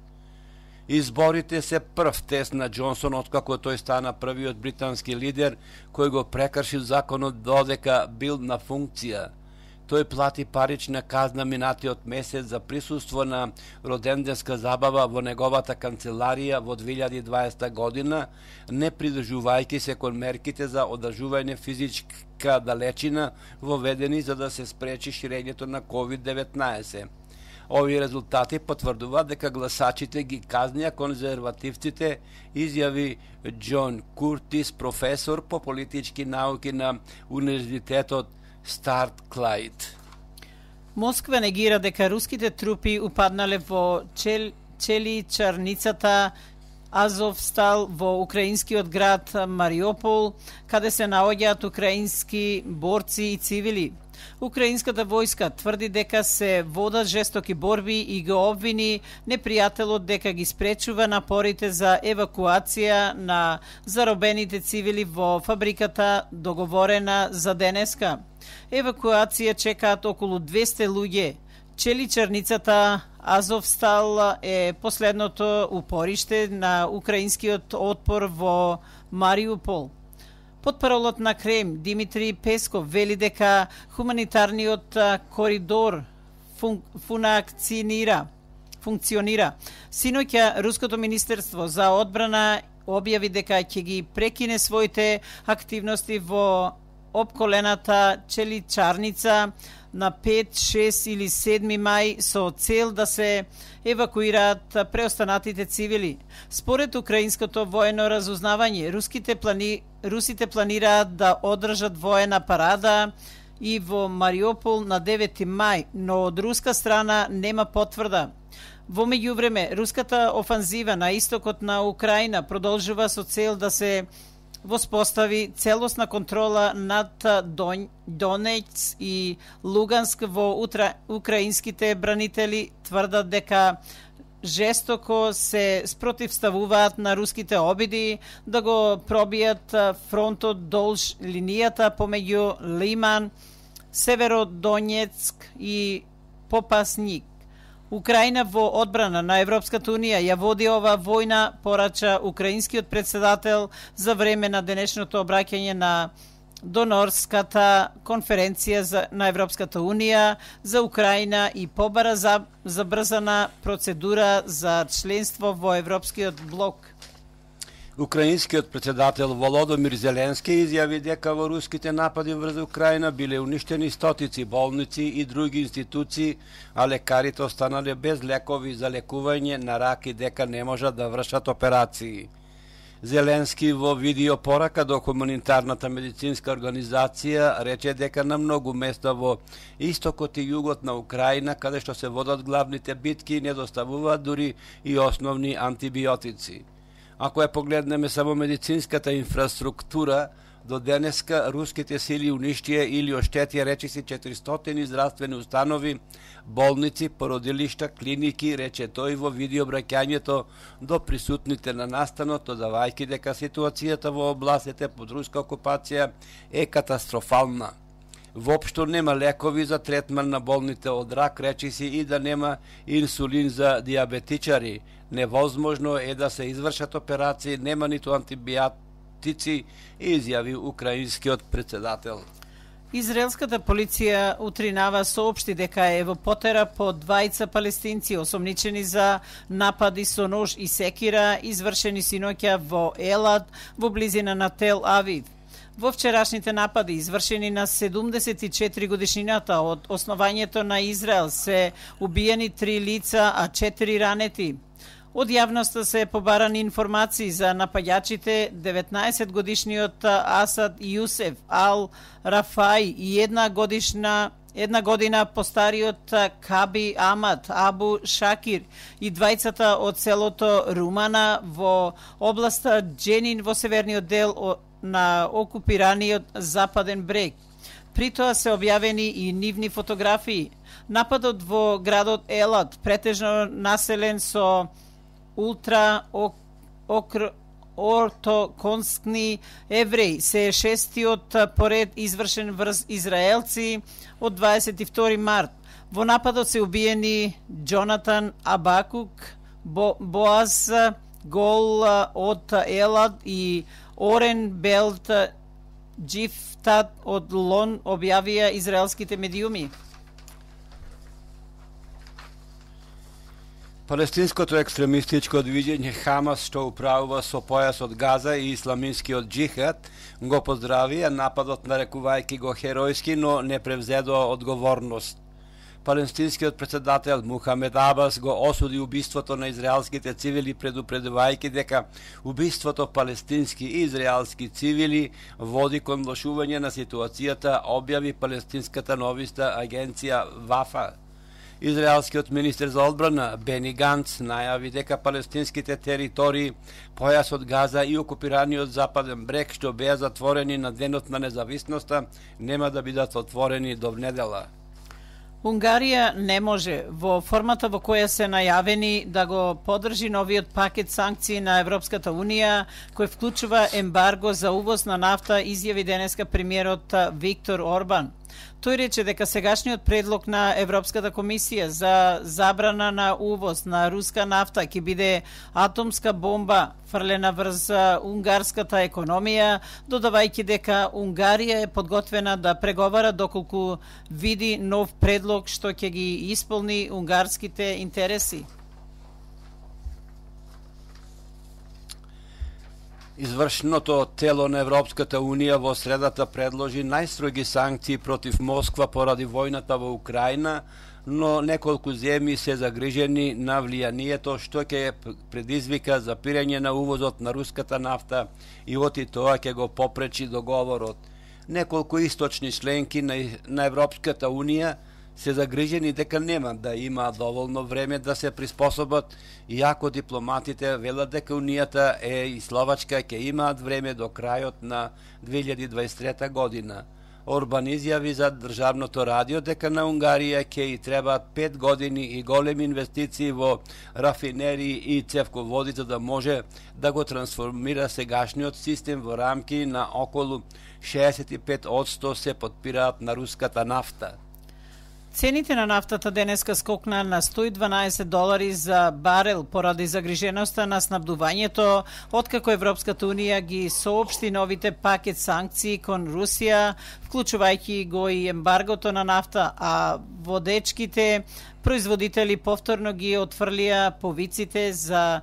Изборите се прв тест на Џонсон откако тој стана првиот британски лидер кој го прекршил законот додека бил на функција. Тој плати парична казна минатиот месец за присуство на роденденска забава во неговата канцеларија во две илјади и дваесета година, не придржувајќи се кон мерките за одржување физичка далечина воведени за да се спречи ширењето на ковид деветнаесет. Овие резултати потврдуваат дека гласачите ги казнија конзервативците, изјави Џон Куртис, професор по политички науки на Универзитетот Старт Клајд. Москва негира дека руските трупи упаднале во чел, челичарницата Азовстал во украинскиот град Мариупол, каде се наоѓаат украински борци и цивили. Украинската војска тврди дека се водат жестоки борби и го обвини непријателот дека ги спречува напорите за евакуација на заробените цивили во фабриката договорена за денеска. Евакуација чекаат околу двесте луѓе. Челичарницата Азовстал е последното упориште на украинскиот отпор во Мариупол. Потпаролот на Крем Димитри Песков вели дека хуманитарниот коридор фун, функционира. функционира. Синоќа Руското министерство за одбрана објави дека ќе ги прекине своите активности во опколената Челичарница на пет, шест или седми мај со цел да се евакуираат преостанатите цивили. Според украинското воено разузнавање, руските плани... русите планираат да одржат воена парада и во Мариупол на девети мај, но од руска страна нема потврда. Во меѓувреме, руската офанзива на истокот на Украина продолжува со цел да се воспостави целосна контрола над Донец и Луганск во утра... украинските бранители тврдат дека жестоко се спротивставуваат на руските обиди да го пробијат фронтот долж линијата помеѓу Лиман, Северодонецк и Попасник. Украина во одбрана на Европската Унија ја води ова војна, порача украинскиот председател за време на денешното обраќање на Донорската конференција за, на Европската Унија за Украина и побара за забрзана процедура за членство во Европскиот блок. Украинскиот председател Володомир Зеленски изјави дека во руските напади врз Украина биле уништени стотици болници и други институции, а лекарите останале без лекови за лекување на рак и дека не можат да вршат операции. Зеленски во видео порака до хуманитарната медицинска организација рече дека на многу места во истокот и југот на Украина, каде што се водат главните битки, недоставуваат дури и основни антибиотици. Ако ја погледнеме само медицинската инфраструктура, до денеска руските сили уништија или оштетија речиси четиристотини здравствени установи, болници, породилишта, клиники, рече тој во видеообраќањето до присутните на настанот, додавајќи дека ситуацијата во областите под руска окупација е катастрофална. Воопшто нема лекови за третман на болните од рак, речиси и да нема инсулин за диабетичари. Невозможно е да се извршат операции, нема ниту антибиотици, изјави украинскиот председател. Израелската полиција утринава соопшти дека е во потера по двајца палестинци осомничени за напади со нож и секира извршени синоќа во Елад во близина на Тел Авив. Во вчерашните напади, извршени на седумдесет и четири годишнината од основањето на Израел, се убиени три лица, а четири ранети. Од јавноста се побарани информации за напаѓачите, деветнаесет годишниот Асад Јусеф Ал Рафај и една годишна една година постариот Каби Амад Абу Шакир и двајцата од селото Румана во областа Дженин во северниот дел на окупираниот Западен брег. При тоа се објавени и нивни фотографии. Нападот во градот Елад, претежно населен со ултра окр ортоконскни евреи, се шестиот поред извршен врз израелци од дваесет и втори март. Во нападот се убиени Джонатан Абакук, Бо, Боаз Гол од Елад и Орен Белт Джифтат од Лон, објавија израелските медиуми. Палестинското екстремистичко движење Хамас, што управува со појасот Газа и исламинскиот джихад, го поздравија нападот, нарекувајќи го херојски, но не превзедоа одговорност. Палестинскиот председател Мухамед Абас го осуди убиството на израелските цивили, предупредувајќи дека убиството палестински и израелски цивили води кон влошување на ситуацијата, објави палестинската новиста агенција Вафа. Израелскиот министер за одбрана Бени Ганц најави дека палестинските територии, појасот Газа и окупираниот Западен брег, што беа затворени на денот на независноста, нема да бидат отворени до внедела. Унгарија не може, во формата во која се најавени, да го поддржи новиот пакет санкции на Европската Унија, кој вклучува ембарго за увоз на нафта, изјави денеска премиерот Виктор Орбан. Тој рече дека сегашниот предлог на Европската комисија за забрана на увоз на руска нафта ќе биде атомска бомба фрлена врз унгарската економија, додавајќи дека Унгарија е подготвена да преговара доколку види нов предлог што ќе ги исполни унгарските интереси. Извршното тело на Европската Унија во средата предложи најстроги санкции против Москва поради војната во Украина, но неколку земји се загрижени на влијанието што ќе предизвика запирање на увозот на руската нафта и оти тоа ќе го попречи договорот. Неколку источни членки на, на Европската Унија се загрижени дека нема да има доволно време да се приспособат, иако дипломатите велат дека Унијата е и Словачка ќе имаат време до крајот на две илјади дваесет и трета година. Орбан изјави за државното радио дека на Унгарија ќе и требаат пет години и големи инвестиции во рафинерии и цевководи за да може да го трансформира сегашниот систем во рамки на околу шеесет и пет одсто се потпираат на руската нафта. Цените на нафтата денеска скокна на сто и дванаесет долари за барел поради загриженоста на снабдувањето, откако Европската Унија ги соопшти новите пакет санкции кон Русија, вклучувајќи го и ембаргото на нафта, а водечките производители повторно ги отфрлија повиците за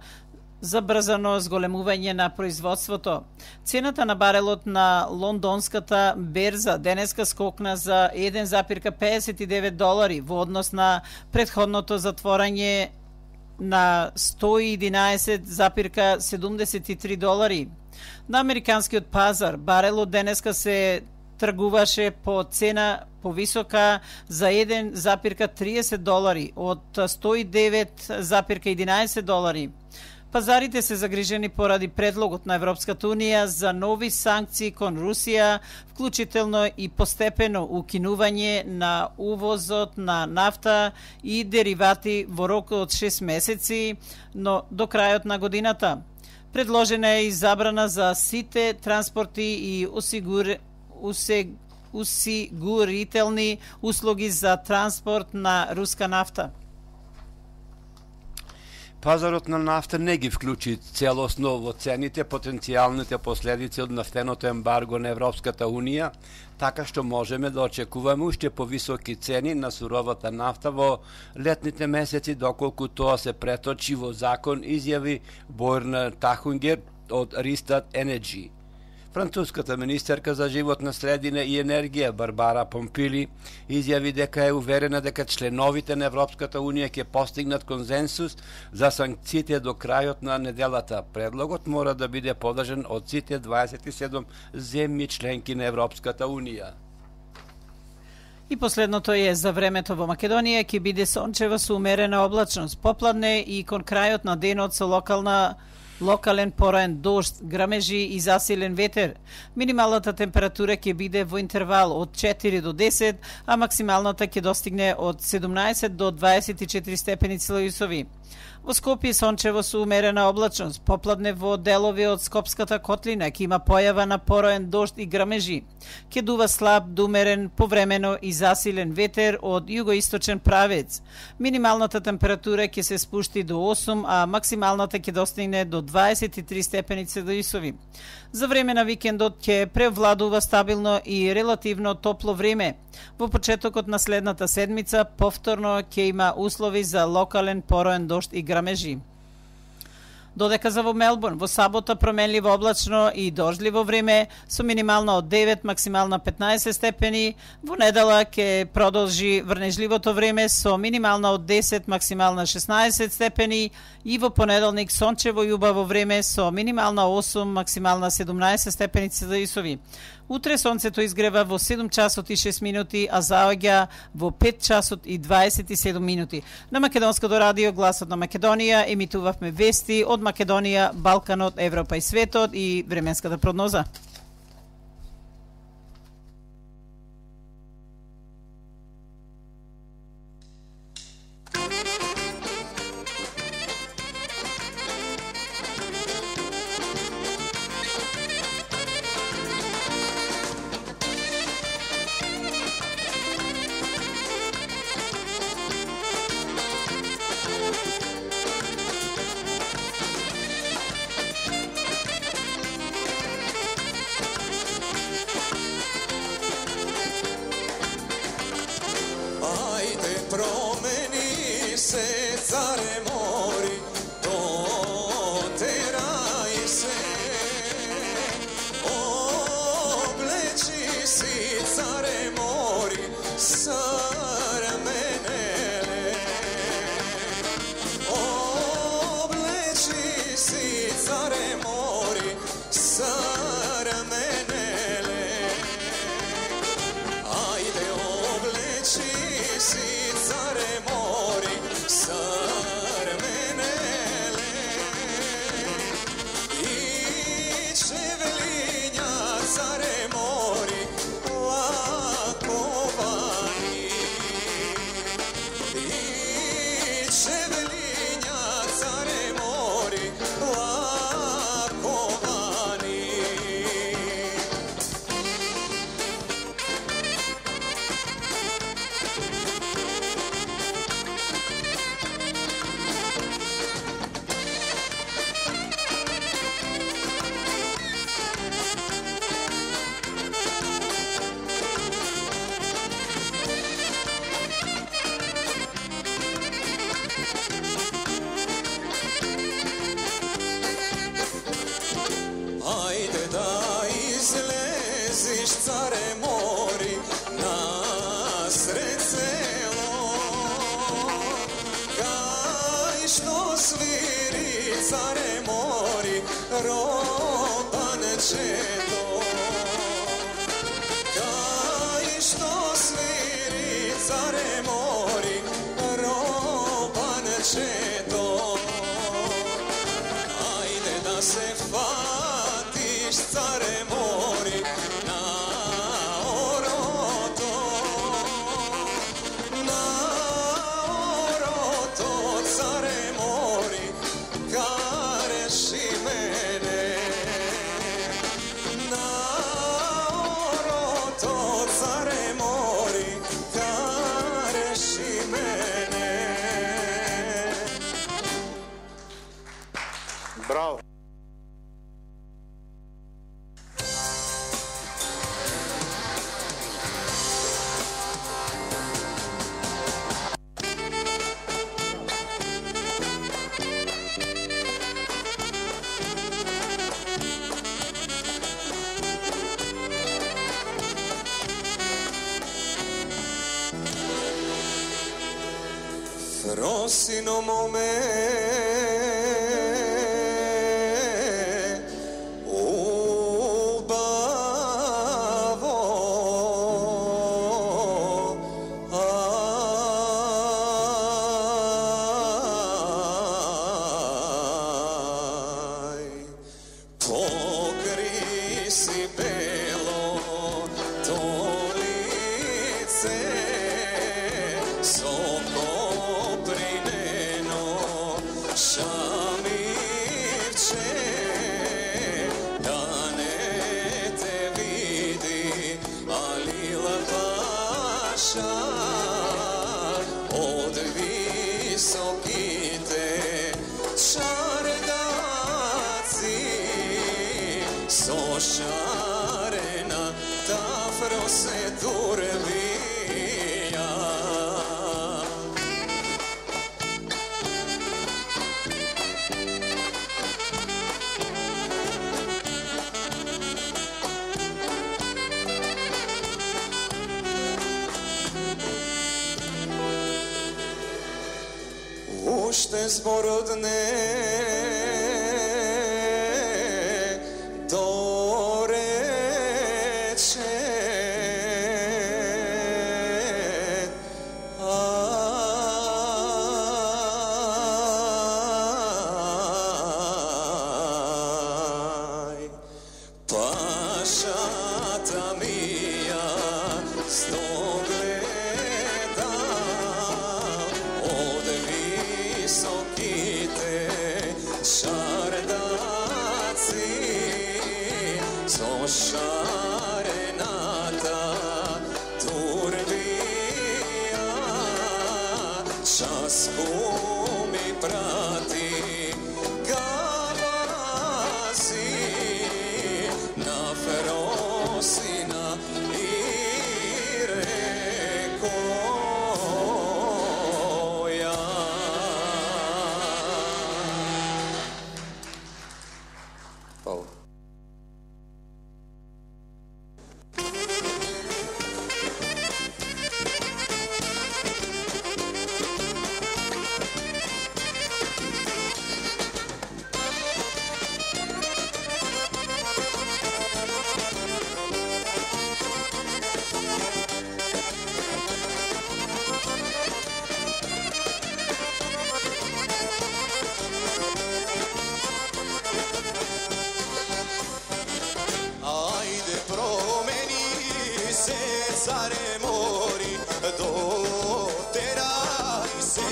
забрзано зголемување на производството. Цената на барелот на лондонската берза денеска скокна за еден запирка педесет и девет долари во однос на претходното затворање на сто и единаесет запирка седумдесет и три долари. На американскиот пазар барелот денеска се тргуваше по цена повисока за еден запирка триесет долари од сто и девет запирка единаесет долари. Пазарите се загрижени поради предлогот на Европската Унија за нови санкции кон Русија, вклучително и постепено укинување на увозот на нафта и деривати во рок од шест месеци, но до крајот на годината. Предложена е и забрана за сите транспорти и осигур... усег... осигурителни услуги за транспорт на руска нафта. Пазарот на нафта не ги вклучи целосно во цените потенцијалните последици од нафтеното ембарго на Европската Унија, така што можеме да очекуваме уште повисоки цени на суровата нафта во летните месеци, доколку тоа се преточи во закон, изјави Бојрна Тахунгер од Ристат Енерджи. Француската министерка за животна средина и енергија Барбара Помпили изјави дека е уверена дека членовите на Европската Унија ќе постигнат консенсус за санкциите до крајот на неделата. Предлогот мора да биде подржан од сите дваесет и седум земји членки на Европската Унија. И последното е за времето во Македонија, ќе биде сончево со умерена облачност, попладне и кон крајот на денот со локална локален пораен дожд, грамежи и засилен ветер. Минималната температура ќе биде во интервал од четири до десет, а максималната ќе достигне од седумнаесет до дваесет и четири степени Целзиусови. Во Скопје сончево со умерена облачност, попладне во делови од Скопската котлина ќе има појава на пороен дожд и грамежи. Ќе дува слаб до умерен повремено и засилен ветер од југоисточен правец. Минималната температура ќе се спушти до осум, а максималната ќе достигне до дваесет и три степени Целзиусови. За време на викендот ќе превладува стабилно и релативно топло време. Во почетокот на следната седмица повторно ќе има услови за локален пороен дожд и грамежи. Додека за во Мелбурн, во сабота променливо облачно и дождливо време со минимална од девет, максимална петнаесет степени. Во недела ќе продолжи врнежливото време со минимална од десет, максимална шеснаесет степени и во понеделник сончево и убаво време со минимална осум, максимална седумнаесет степени Целзиусови. Утре сонцето изгрева во седум часот и шест минути, а заоѓа во пет часот и дваесет и седум минути. На Македонското радио Гласот на Македонија емитувавме вести од Македонија, Балканот, Европа и светот и временската прогноза. si care mori sarmenele, obleči si care mori sarmenele, ajde obleči si care mori sarmenele, i čevelinja care mori lakovani, i čevelinja care mori lakovani. Ajde da izleziš care mori na sred selo, kaj što sviri care mori robančeto, kaj što sviri care mori robančeto, ajde da se fatiš care mori na oroto, na oroto care mori kareši mene, na oroto care mori kareši mene. Браво! Frosino mome ubavo, aj, pokri si belo to lice, soko prineno šamirče, da ne te vidi, ali lapaša od visokite čardaci, so šarena ta frose turvija. Уште збородне дорече, ај, пашата мија стогледа од високите шардаци, со шарената турбија, часку ми прати галаси на феросина и рекоја. Hvala. se, care mori, doterai se.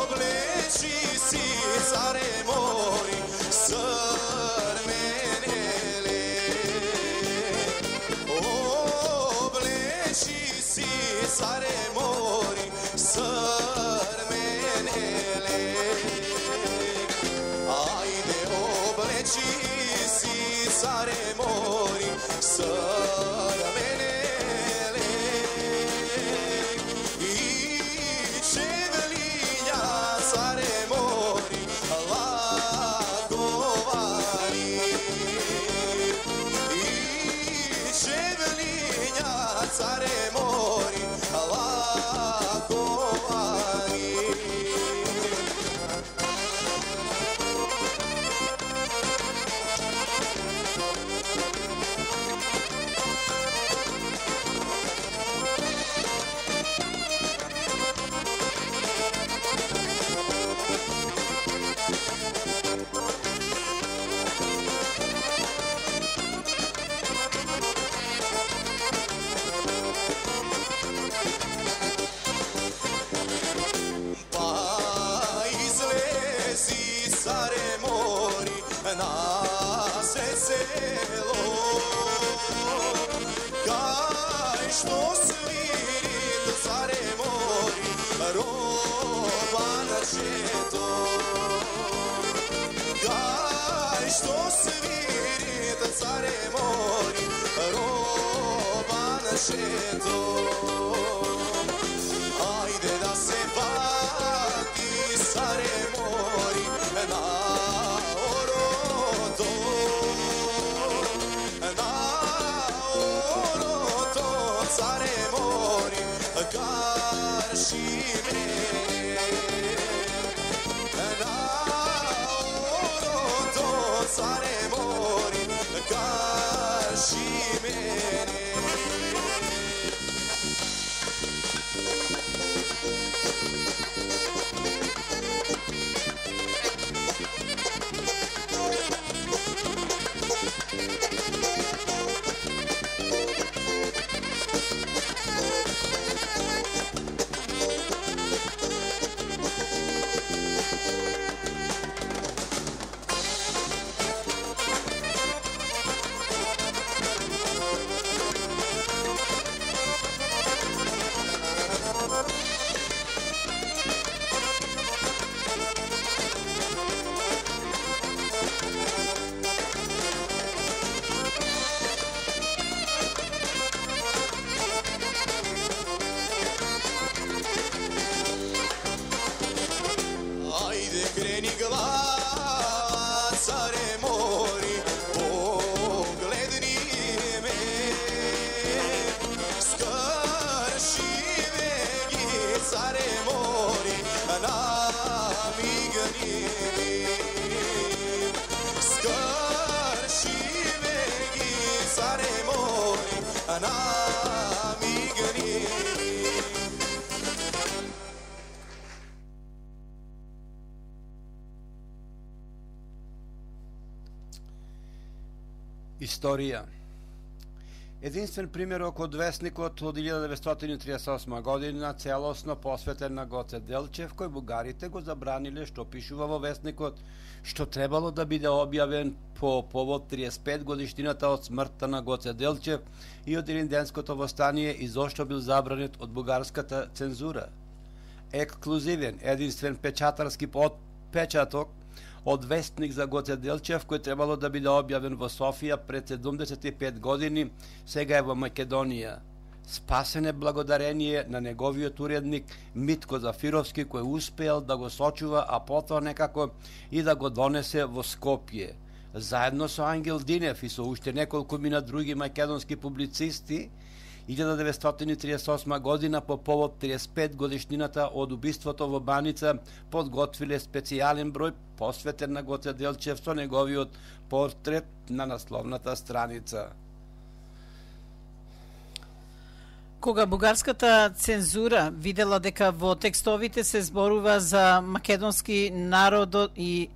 Obleci si, care mori, sărmenele. Obleci si, care mori, sărmenele. Haide, obleci si, care mori, sărmenele. I cevlinja, care mori, la govani. I cevlinja, care mori, la govani. Pa izlezi, care mori, na se selo. Kaj što svirit, care mori, roban četo. Kaj što svirit, care mori, roban četo. Ajde da se vati, care mori, na oroto. Na oroto, care mori, karši mene. Na oroto, care mori, karši mene. Ajde kreni glava, care mori, pogledni me. Skršive gi, care mori, namigni mi. Skršive gi, care mori, namigni mi. Историја. Единствен примерок од весникот од илјада деветстотини триесет и осма година, целосно посветен на Гоце Делчев, кој бугарите го забраниле што пишува во весникот, што требало да биде објавен по повод триесет и пет годишнината од смртта на Гоце Делчев и од Илинденското востание и зошто бил забранет од бугарската цензура. Ексклузивен, единствен печатарски подпечаток од вестник за Гоце Делчев, кој требало да биде објавен во Софија пред седумдесет и пет години, сега е во Македонија. Спасен е благодарение на неговиот уредник Митко Зафировски, кој успеал да го сочува, а потоа некако и да го донесе во Скопје. Заедно со Ангел Динев и со уште неколку мина други македонски публицисти, илјада деветстотини триесет и осма година по повод триесет и пет годишнината од убиството во Баница подготвиле специјален број посветен на Гоце Делчев со неговиот портрет на насловната страница. Кога бугарската цензура видела дека во текстовите се зборува за македонски народ и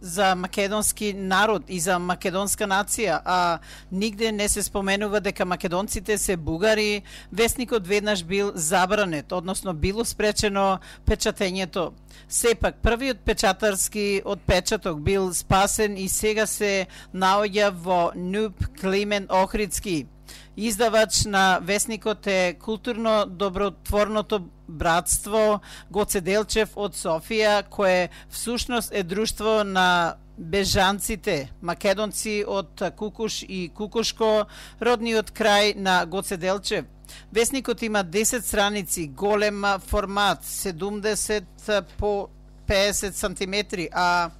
за македонски народ и за македонска нација, а нигде не се споменува дека македонците се бугари. Весникот веднаш бил забранет, односно било спречено печатењето. Сепак, првиот печатарски отпечаток бил спасен и сега се наоѓа во НУП Климен Охридски. Издавач на весникот е културно-добротворното братство Гоце Делчев од Софија, кое всушност е друштво на бежанците, македонци од Кукуш и Кукушко, родниот крај на Гоце Делчев. Весникот има десет страници, голем формат, седумдесет по песет сантиметри, а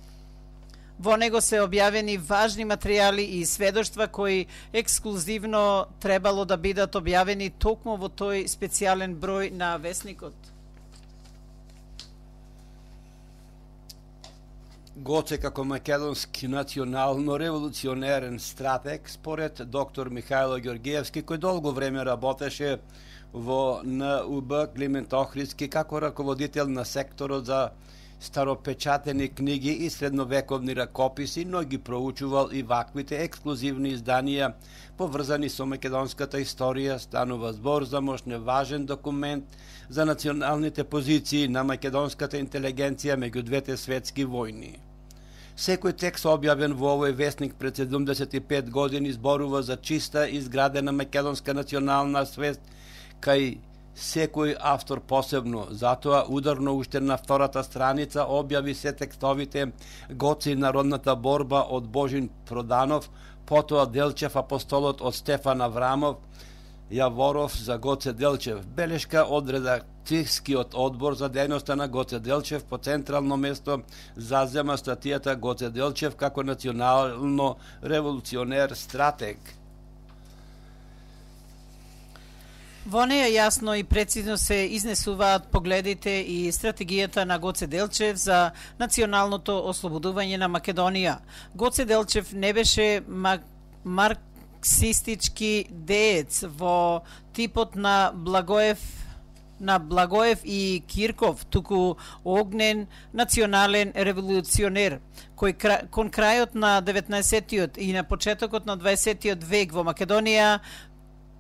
во него се објавени важни материјали и сведоштва кои ексклузивно требало да бидат објавени токму во тој специјален број на весникот. Гоце како македонски национално-револуционерен стратег, според доктор Михајло Ѓоргиевски, кој долго време работеше во Н У Б Климент Охридски како раководител на секторот за старопечатени книги и средновековни ракописи, но ги проучувал и ваквите ексклузивни изданија поврзани со македонската историја. Станува збор за мощно важен документ за националните позиции на македонската интелигенција меѓу двете светски војни. Секој текст објавен во овој весник пред седумдесет и пет години зборува за чиста изградена македонска национална свест кај секој автор посебно. Затоа ударно уште на втората страница објави се текстовите Гоце и народната борба од Божин Проданов, потоа Делчев апостолот од Стефан Аврамов, Јаворов за Гоце Делчев. Белешка од редакцијскиот одбор за дејноста на Гоце Делчев по централно место зазема статијата Гоце Делчев како национално револуционер стратег. Во неја јасно и прецизно се изнесуваат погледите и стратегијата на Гоце Делчев за националното ослободување на Македонија. Гоце Делчев не беше мак... марксистички деец во типот на Благоев на Благоев и Кирков, туку огнен национален револуционер, кој кон крајот на деветнаесеттиот и на почетокот на дваесеттиот век во Македонија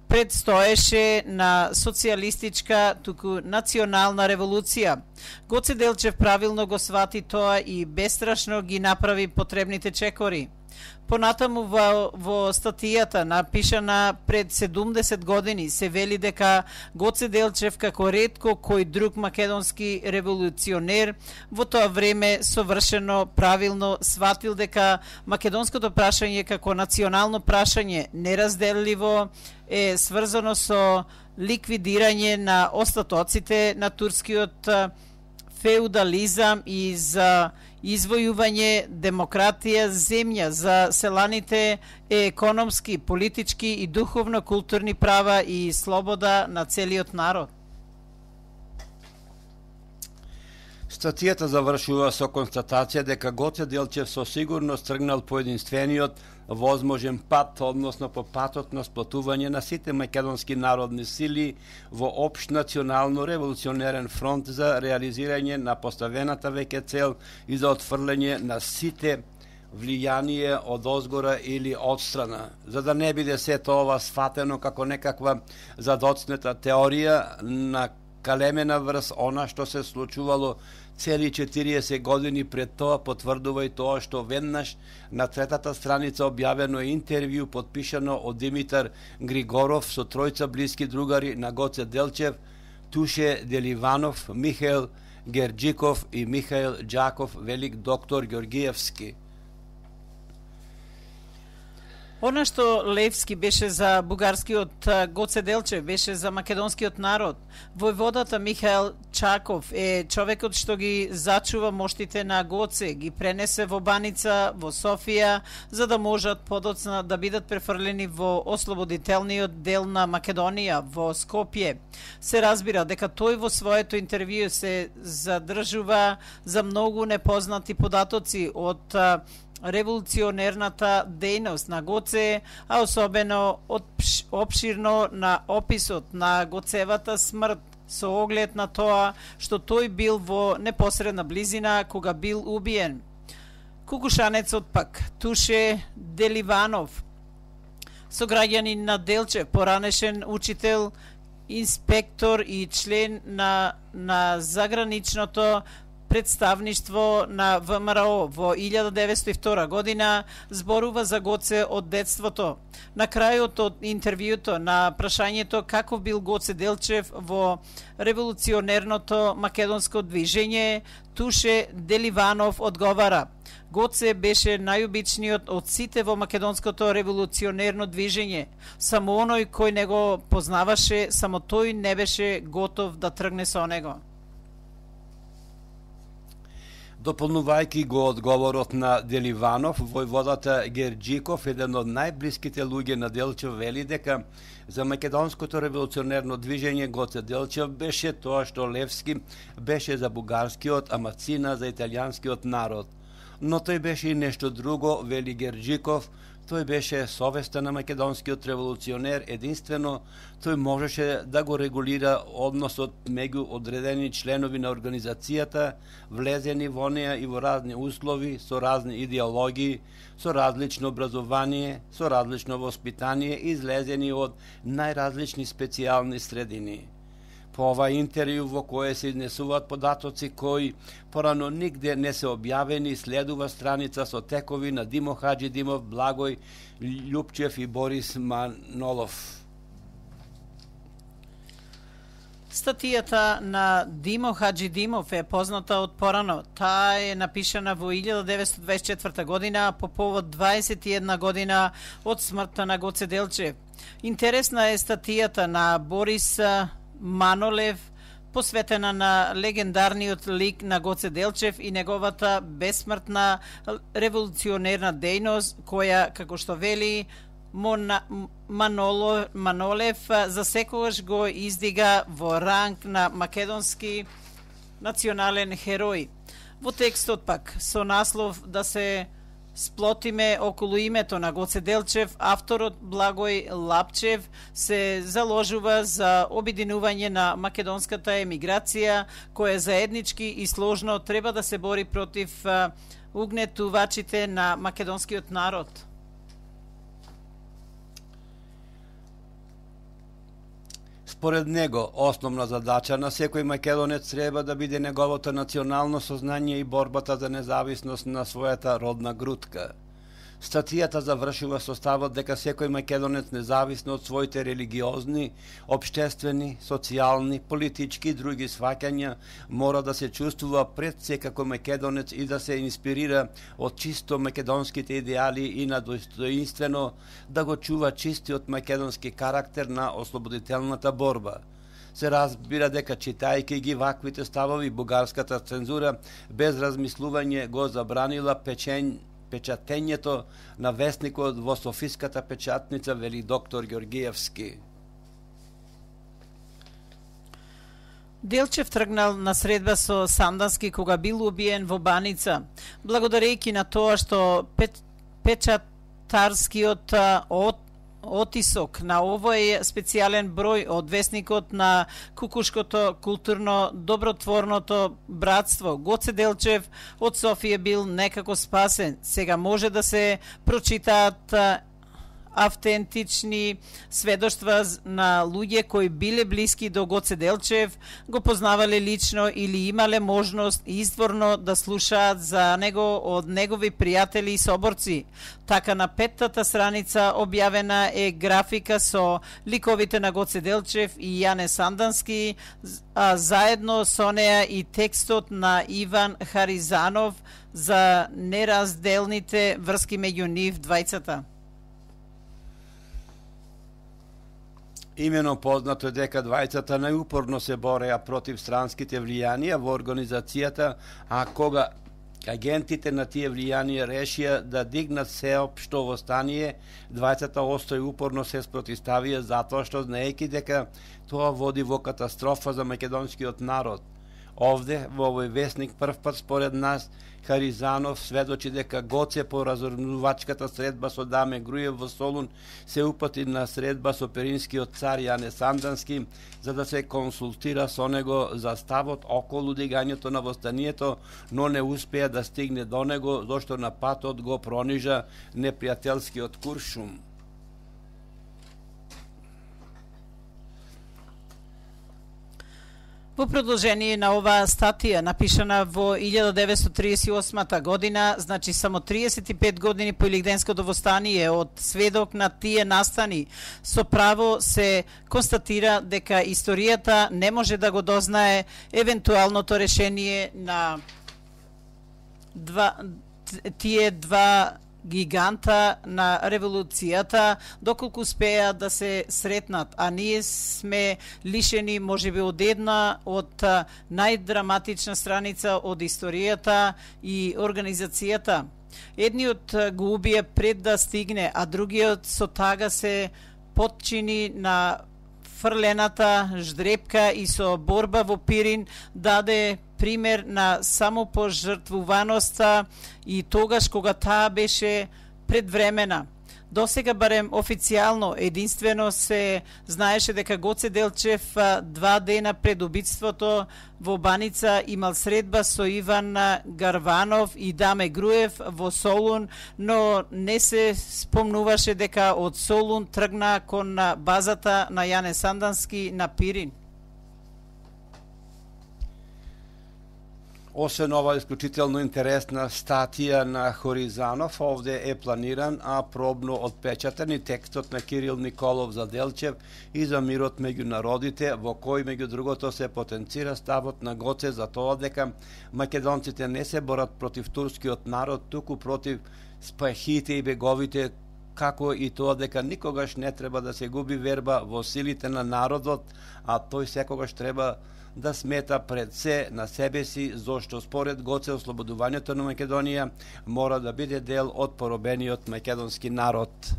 предстоеше на социјалистичка, туку национална револуција. Гоце Делчев правилно го свати тоа и бестрашно ги направи потребните чекори. Понатаму во, во статијата напишана пред седумдесет години се вели дека Гоце Делчев како ретко кој друг македонски револуционер во тоа време совршено правилно сватил дека македонското прашање како национално прашање неразделливо е сврзано со ликвидирање на остатоците на турскиот феудализам и за извојување демократија земја за селаните е економски, политички и духовно-културни права и слобода на целиот народ. Статијата завршува со констатација дека Гоце Делчев со сигурност тргнал по единствениот возможен пат, односно по патот на сплотување на сите македонски народни сили во општ национално револуционерен фронт за реализирање на поставената веќе цел и за отфрлење на сите влијание од озгора или одстрана. За да не биде сето ова сфатено како некаква задоцнета теорија на калемена врз она што се случувало цели четириесет години пред тоа, потврдува и тоа што веднаш на третата страница објавено интервју подпишано од Димитар Григоров со тројца блиски другари на Гоце Делчев, Туше Деливанов, Михаил Герджиков и Михаил Џаков, велик доктор Ѓоргиевски. Она што Левски беше за бугарскиот, Гоце Делчев беше за македонскиот народ. Војводата Михаил Чаков е човекот што ги зачува моштите на Гоце, ги пренесе во Баница, во Софија, за да можат подоцна да бидат префрлени во ослободителниот дел на Македонија, во Скопје. Се разбира дека тој во своето интервју се задржува за многу непознати податоци од револуционерната дејност на Гоце, а особено опширно на описот на Гоцевата смрт со оглед на тоа што тој бил во непосредна близина кога бил убиен. Кукушанецот пак, Туше Деливанов, сограѓанин на Делчев, поранешен учител, инспектор и член на, на заграничното представништво на ВМРО во илјада деветстотини и втора година, зборува за Гоце од детството. На крајот од интервјуто на прашањето каков бил Гоце Делчев во револуционерното македонско движење, Туше Деливанов одговара: Гоце беше најобичниот од сите во македонското револуционерно движење. Само оној кој не го познаваше, само тој не беше готов да тргне со него. Дополнувајќи го одговорот на Деливанов, војводата Герџиков, еден од најблиските луѓе на Делчев, вели дека за македонското револуционерно движење Гоце Делчев беше тоа што Левски беше за бугарскиот, а Мацина за италијанскиот народ. Но тој беше и нешто друго, вели Герџиков. Тој беше совеста на македонскиот револуционер, единствено тој можеше да го регулира односот меѓу одредени членови на организацијата, влезени во неа и во разни услови, со разни идеологии, со различно образование, со различно воспитание, излезени од најразлични специјални средини. По ова интервју во кое се изнесуваат податоци кои порано нигде не се објавени, следува страница со текови на Димо Хаџидимов, Благој Љупчев и Борис Манолов. Статијата на Димо Хаџидимов е позната од порано. Таа е напишана во илјада деветстотини дваесет и четврта година по повод дваесет и една година од смртта на Гоце Делчев. Интересна е статијата на Борис Манолев, посветена на легендарниот лик на Гоце Делчев и неговата бесмртна револуционерна дејност, која, како што вели Мона, Маноло, Манолев, за секогаш го издига во ранг на македонски национален херој. Во текстот пак, со наслов да се сплотиме околу името на Гоце Делчев, авторот Благој Лапчев се заложува за обединување на македонската емиграција, која заеднички и сложно треба да се бори против угнетувачите на македонскиот народ. Според него, основна задача на секој македонец треба да биде неговото национално сознание и борбата за независност на својата родна грудка. Статијата завршува со ставот дека секој македонец, независно од своите религиозни, општествени, социјални, политички и други сваќања, мора да се чувствува пред се како македонец и да се инспирира од чисто македонските идеали и на достоинствено да го чува чистиот македонски карактер на ослободителната борба. Се разбира дека читајќи ги ваквите ставови, бугарската цензура без размислување го забранила печење печатењето на весникот во Софиската печатница, вели доктор Ѓоргиевски. Делчев тргнал на средба со Сандански кога бил убиен во Баница, благодарејќи на тоа што пет, печатарскиот од отисок на овој специјален број од весникот на Кукушкото културно добротворното братство Гоце Делчев од Софија бил некако спасен. Сега може да се прочитаат автентични сведоштва на луѓе кои биле блиски до Гоце Делчев, го познавале лично или имале можност изворно да слушаат за него од негови пријатели и соборци. Така на петтата страница објавена е графика со ликовите на Гоце Делчев и Јане Сандански, а заедно со неа и текстот на Иван Харизанов за неразделните врски меѓу нив двајцата. Имено познато е дека двајцата најупорно се бореа против странските влијанија во организацијата, а кога агентите на тие влијанија решија да дигнат сеопшто востание, двајцата остои упорно се спротивставија затоа што знаејќи дека тоа води во катастрофа за македонскиот народ. Овде, во овој весник, прв пат според нас, Харизанов сведочи дека Гоце по разорнувачката средба со Даме Груев во Солун се упати на средба со перинскиот цар Јане Сандански за да се консултира со него за ставот околу дигањето на востанието, но не успеа да стигне до него, зашто на патот го пронижа непријателскиот Куршум. Во продолжение на оваа статија, напишана во илјада деветстотини триесет и осма година, значи само триесет и пет години по Илигденското востание, од сведок на тие настани, со право се констатира дека историјата не може да го дознае евентуалното решение на два, тие два гиганта на револуцијата, доколку успеа да се сретнат, а ние сме лишени можеби од една од најдраматична страница од историјата и организацијата. Едниот го убие пред да стигне, а другиот со тага се потчини на фрлената ждрепка и со борба во Пирин даде пример на самопожртвуваноста и тогаш кога таа беше предвремена. Досега барем официјално единствено се знаеше дека Гоце Делчев два дена пред убиството во Баница имал средба со Иван Гарванов и Даме Груев во Солун, но не се спомнуваше дека од Солун тргна кон базата на Јане Сандански на Пирин. Освен ова исклучително интересна статија на Хоризанов, овде е планиран, а пробно отпечатан и текстот на Кирил Николов за Делчев и за мирот меѓу народите, во кој меѓу другото се потенцира ставот на Гоце за тоа дека македонците не се борат против турскиот народ, туку против спахите и беговите, како и тоа дека никогаш не треба да се губи верба во силите на народот, а тој секогаш треба да смета пред се на себе си, зашто според Гоце ослободувањето на Македонија мора да биде дел од поробениот македонски народ.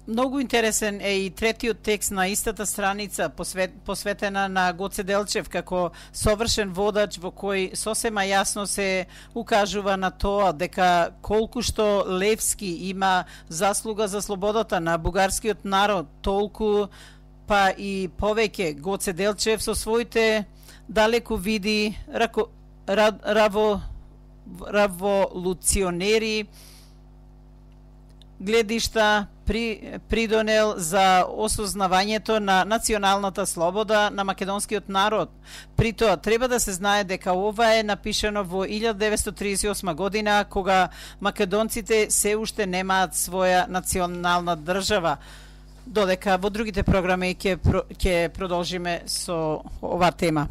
Многу интересен е и третиот текст на истата страница, посвет, посветена на Гоце Делчев како совршен водач, во кој сосема јасно се укажува на тоа дека колку што Левски има заслуга за слободата на бугарскиот народ, толку па и повеќе Гоце Делчев со своите далеку види рако, рав, раво, раволуционери гледишта при, придонел за осознавањето на националната слобода на македонскиот народ. При тоа треба да се знае дека ова е напишано во илјада деветстотини триесет и осма година, кога македонците се уште немаат своја национална држава. Додека во другите програми ќе ќе продолжиме со оваа тема.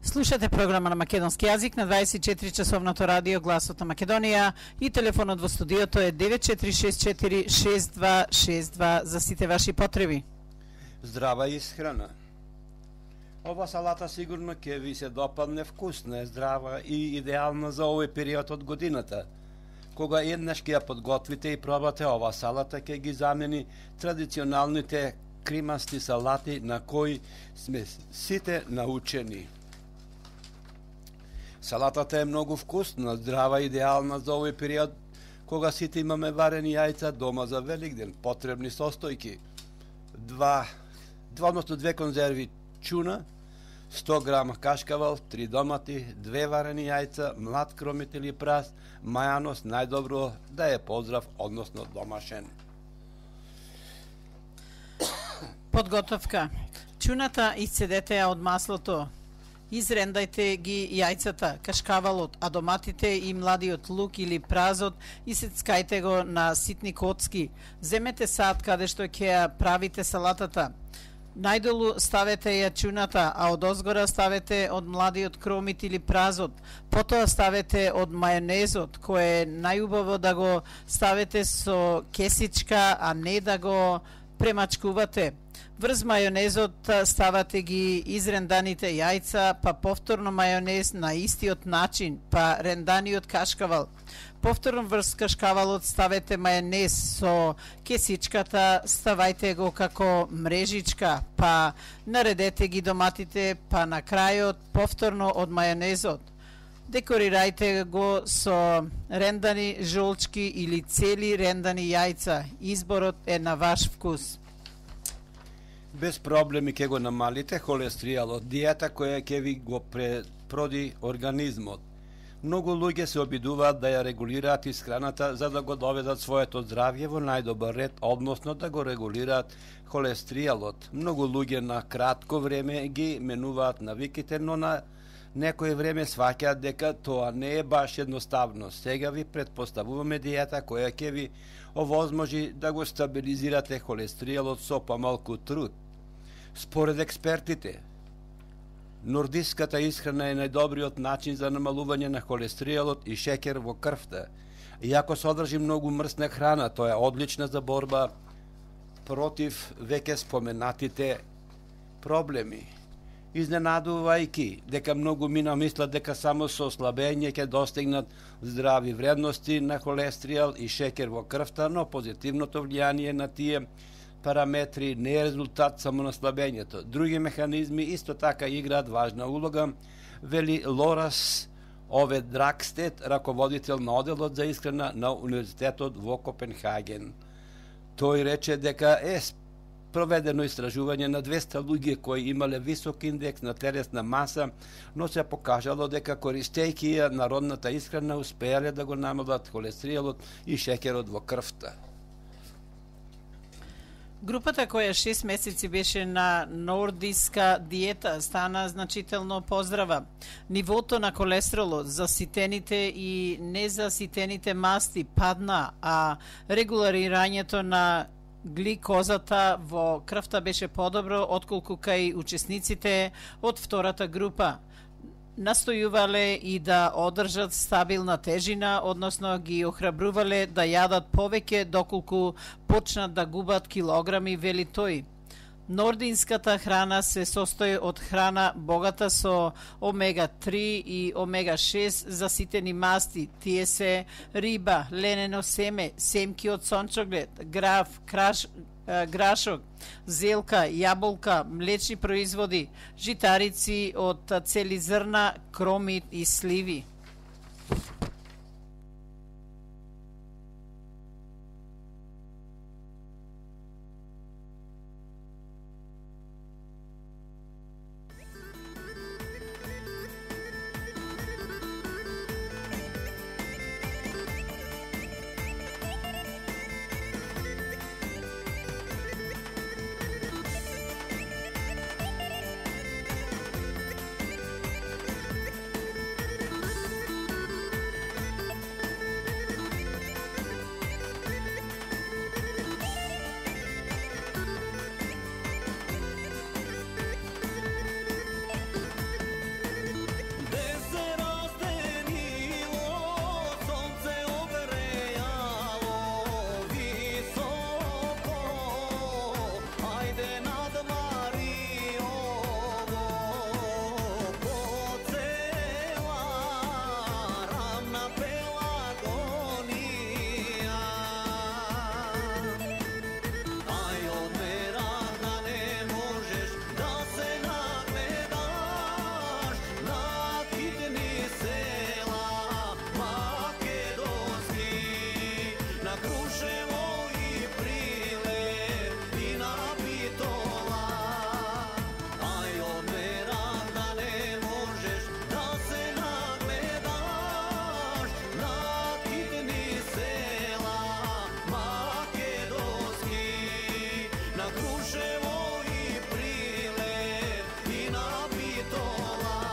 Слушате програма на македонски јазик на дваесет и четири часовното радио Гласот на Македонија и телефонот во студиото е девет четири шест четири шест два шест два за сите ваши потреби. Здрава исхрана. Ова салата сигурно ќе ви се допадне, вкусна е, здрава и идеална за овој период од годината. Кога еднаш ќе ја подготвите и пробате ова салата, ќе ги замени традиционалните кримасти салати на кои сме сите научени. Салатата е многу вкусна, здрава и идеална за овој период, кога сите имаме варени јајца дома за Великден. Потребни состојки: два, два односно две конзерви чуна, сто грама кашкавал, три домати, две варени јајца, млад кромит или прас, мајанос, најдобро да е поздрав, односно домашен. Подготовка. Чуната исцедете ја од маслото. Изрендајте ги јајцата, кашкавалот, а доматите и младиот лук или празот и сецкајте го на ситни коцки. Земете сад каде што ќе ја правите салатата. Најдолу ставете ја чуната, а од озгора ставете од младиот кромит или празот. Потоа ставете од мајонезот, кој е најубаво да го ставите со кесичка, а не да го премачкувате. Врз мајонезот ставате ги изренданите јајца, па повторно мајонез на истиот начин, па ренданиот кашкавал. Повторно врз кашкавалот ставете мајонез со кесичката, ставајте го како мрежичка, па наредете ги доматите, па на крајот повторно од мајонезот. Декорирајте го со рендани жолчки или цели рендани јајца. Изборот е на ваш вкус. Без проблеми ќе го намалите холестеролот, диета која ќе ви го препроди организмот. Многу луѓе се обидуваат да ја регулираат исхраната за да го доведат своето здравје во најдобар ред, односно да го регулираат холестеролот. Многу луѓе на кратко време ги менуваат навиките, но на некој време сваќаат дека тоа не е баш едноставно. Сега ви предпоставуваме диета која ќе ви овозможи да го стабилизирате холестеролот со помалку труд. Според експертите, нордиската исхрана е најдобриот начин за намалување на холестеролот и шеќер во крвта. Иако содржи многу мрсна храна, тоа е одлична за борба против веќе споменатите проблеми. Изненадувајки дека многу мина мислат дека само со ослабење ќе достигнат здрави вредности на холестерол и шеќер во крвта, но позитивното влијание на тие параметри не е резултат само на слабењето. Други механизми исто така играат важна улога, вели Лорас Ове Дракстед, раководител на оделот за исхрана на Универзитетот во Копенхаген. Тој рече дека е проведено истражување на двеста луѓе кои имале висок индекс на телесна маса, но се покажало дека користејќи ја народната исхрана успеале да го намалат холестеролот и шеќерот во крвта. Групата која шест месеци беше на нордиска диета стана значително поздрава. Нивото на холестеролот за ситените и незаситените масти падна, а регуларирањето на гликозата во крвта беше подобро отколку кај учесниците од втората група. Настојувале и да одржат стабилна тежина, односно ги охрабрувале да јадат повеќе доколку почнат да губат килограми, вели тој. Нординската храна се состои од храна богата со омега три и омега шест заситени масти. Тие се риба, ленено семе, семки од сончоглед, граф, краш, грашок, зелка, јаболка, млечни производи, житарици од цели зрна, кромит и сливи. Крушево и Прилеп и на Битола.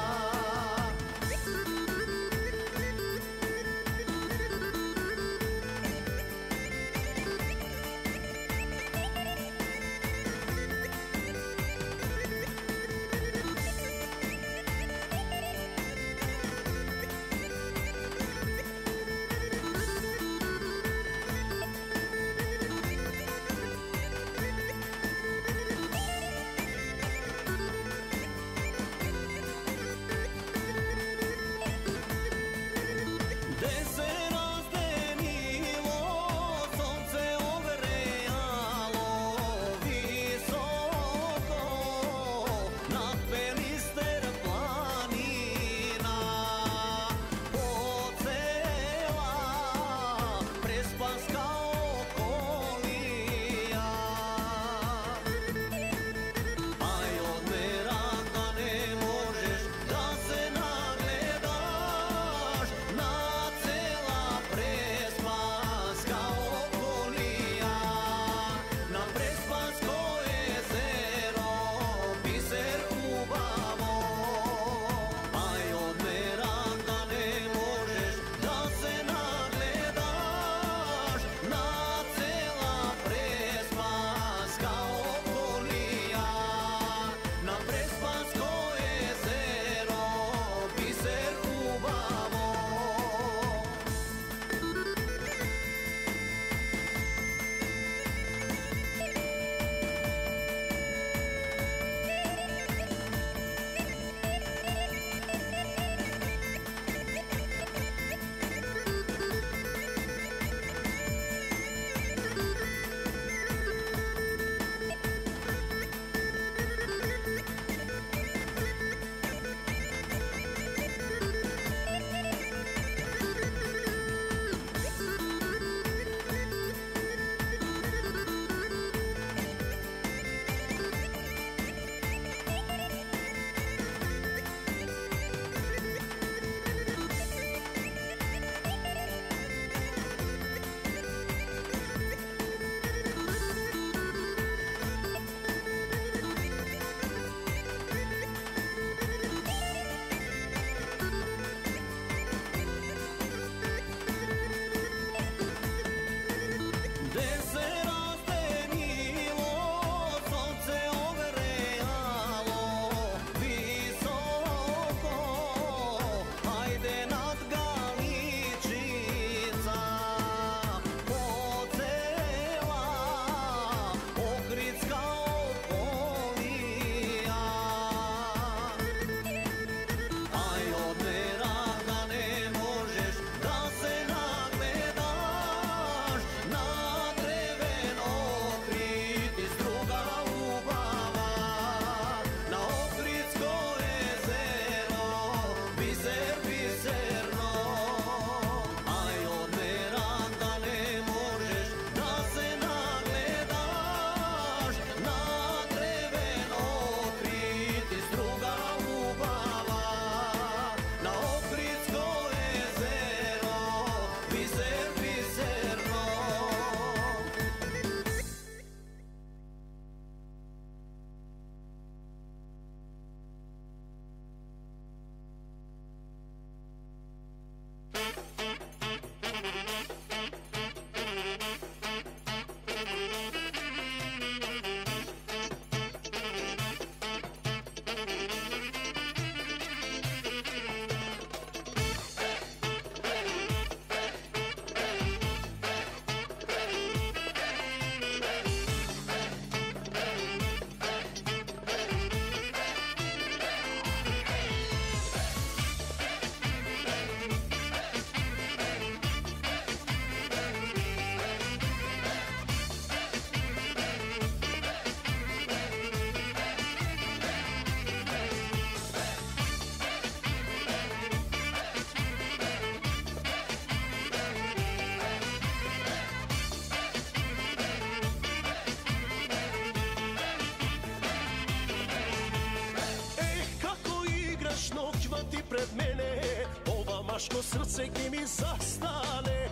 Машко срце ги ми застане.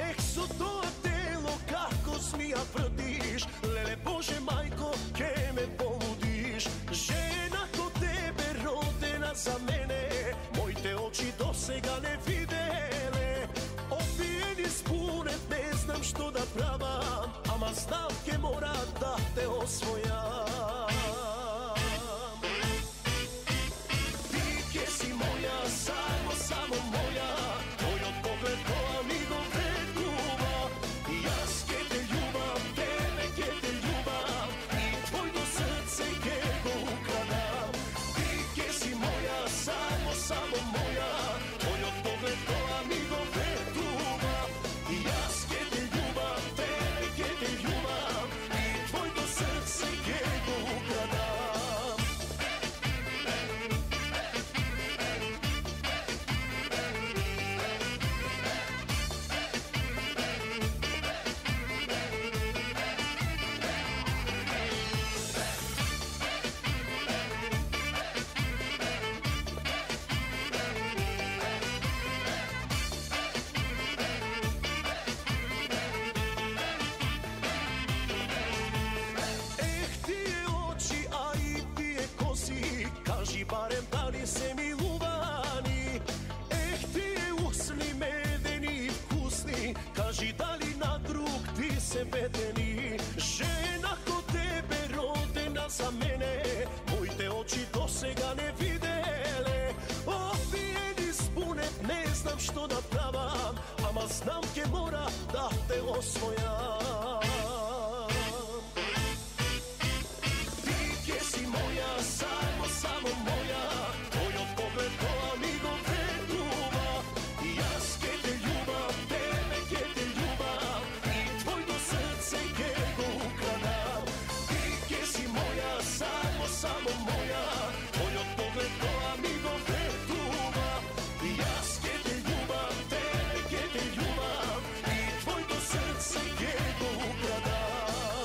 Ех, со тоа тело како змија врдиш. Леле Боже мајко, за мене, моите очи досега не виделе. Опиени спунет, не знам што да правам, ама знам ке мора да те освојам. Ти ке си моја, само, само моја, твојот поглед која ми го вреднува. Јас ке те љубам, тебе ке те љубам, и твојто срце ке го украдам. Ти ке си моја, само, само моја, твојот поглед која ми го вреднува. Јас ке те љубам, тебе ке те љубам, и твојто срце ке го украдам. Ех, тие очи, а и тие коси, кажи барем дали се милувани. Ех, тие усни медени и вкусни, кажи дали на друг ти се бедени. Жена ко тебе родена за мене, моите очи досега не виделе. Опиени спунет, не знам што да правам, ама знам ке мора да те освојам. Ти ке си моја, само, само моја, твојот поглед која ми го вреднува. Јас ке те љубам, тебе ке те љубам, и твојто срце ке го украдам. Ти ке си моја, само, само моја, твојот поглед која ми го вреднува. Јас ке те љубам, тебе ке те љубам, и твојто срце ке го украдам.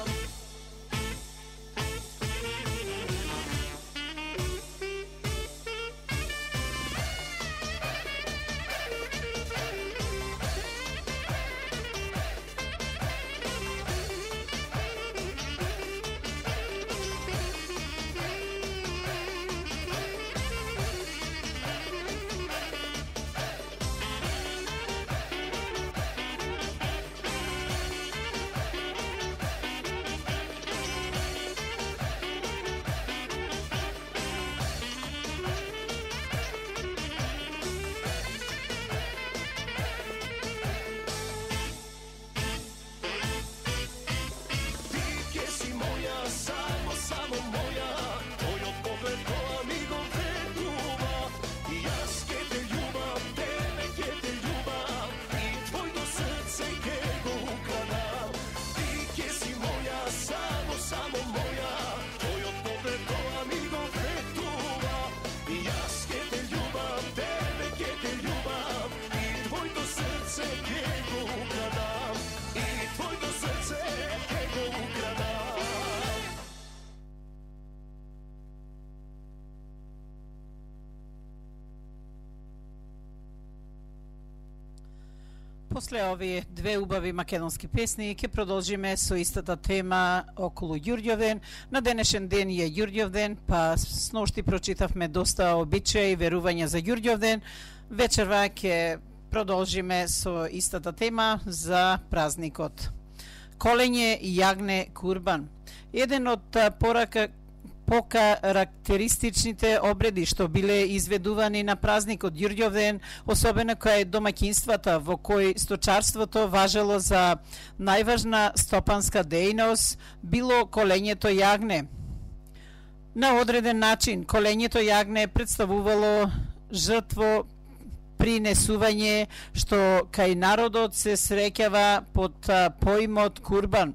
Ти ке си моја, само, само моја, твојот поглед која ми го вреднува. Јас ке те љубам, тебе ке те љубам, и твојто срце ке го украдам. Ти ке си моја, само, само моја, твојот поглед која ми го вреднува. Јас ке те љубам, тебе ке те љубам, и твојто срце ке го украдам. И твојто срце ке го украдам. После овие две убави македонски песни ќе продолжиме со истата тема околу Ѓурѓовден. На денешен ден е Ѓурѓовден, па сношти прочитавме доста обичаи и верувања за Ѓурѓовден. Вечерва ќе продолжиме со истата тема за празникот. Колење јагне курбан. Еден од порака покарактеристичните обреди што биле изведувани на празникот Ѓурѓовден, особено кај домаќинствата во кои сточарството важело за најважна стопанска дејност, било колењето јагне. На одреден начин, колењето јагне представувало жртво принесување што кај народот се среќава под поимот курбан.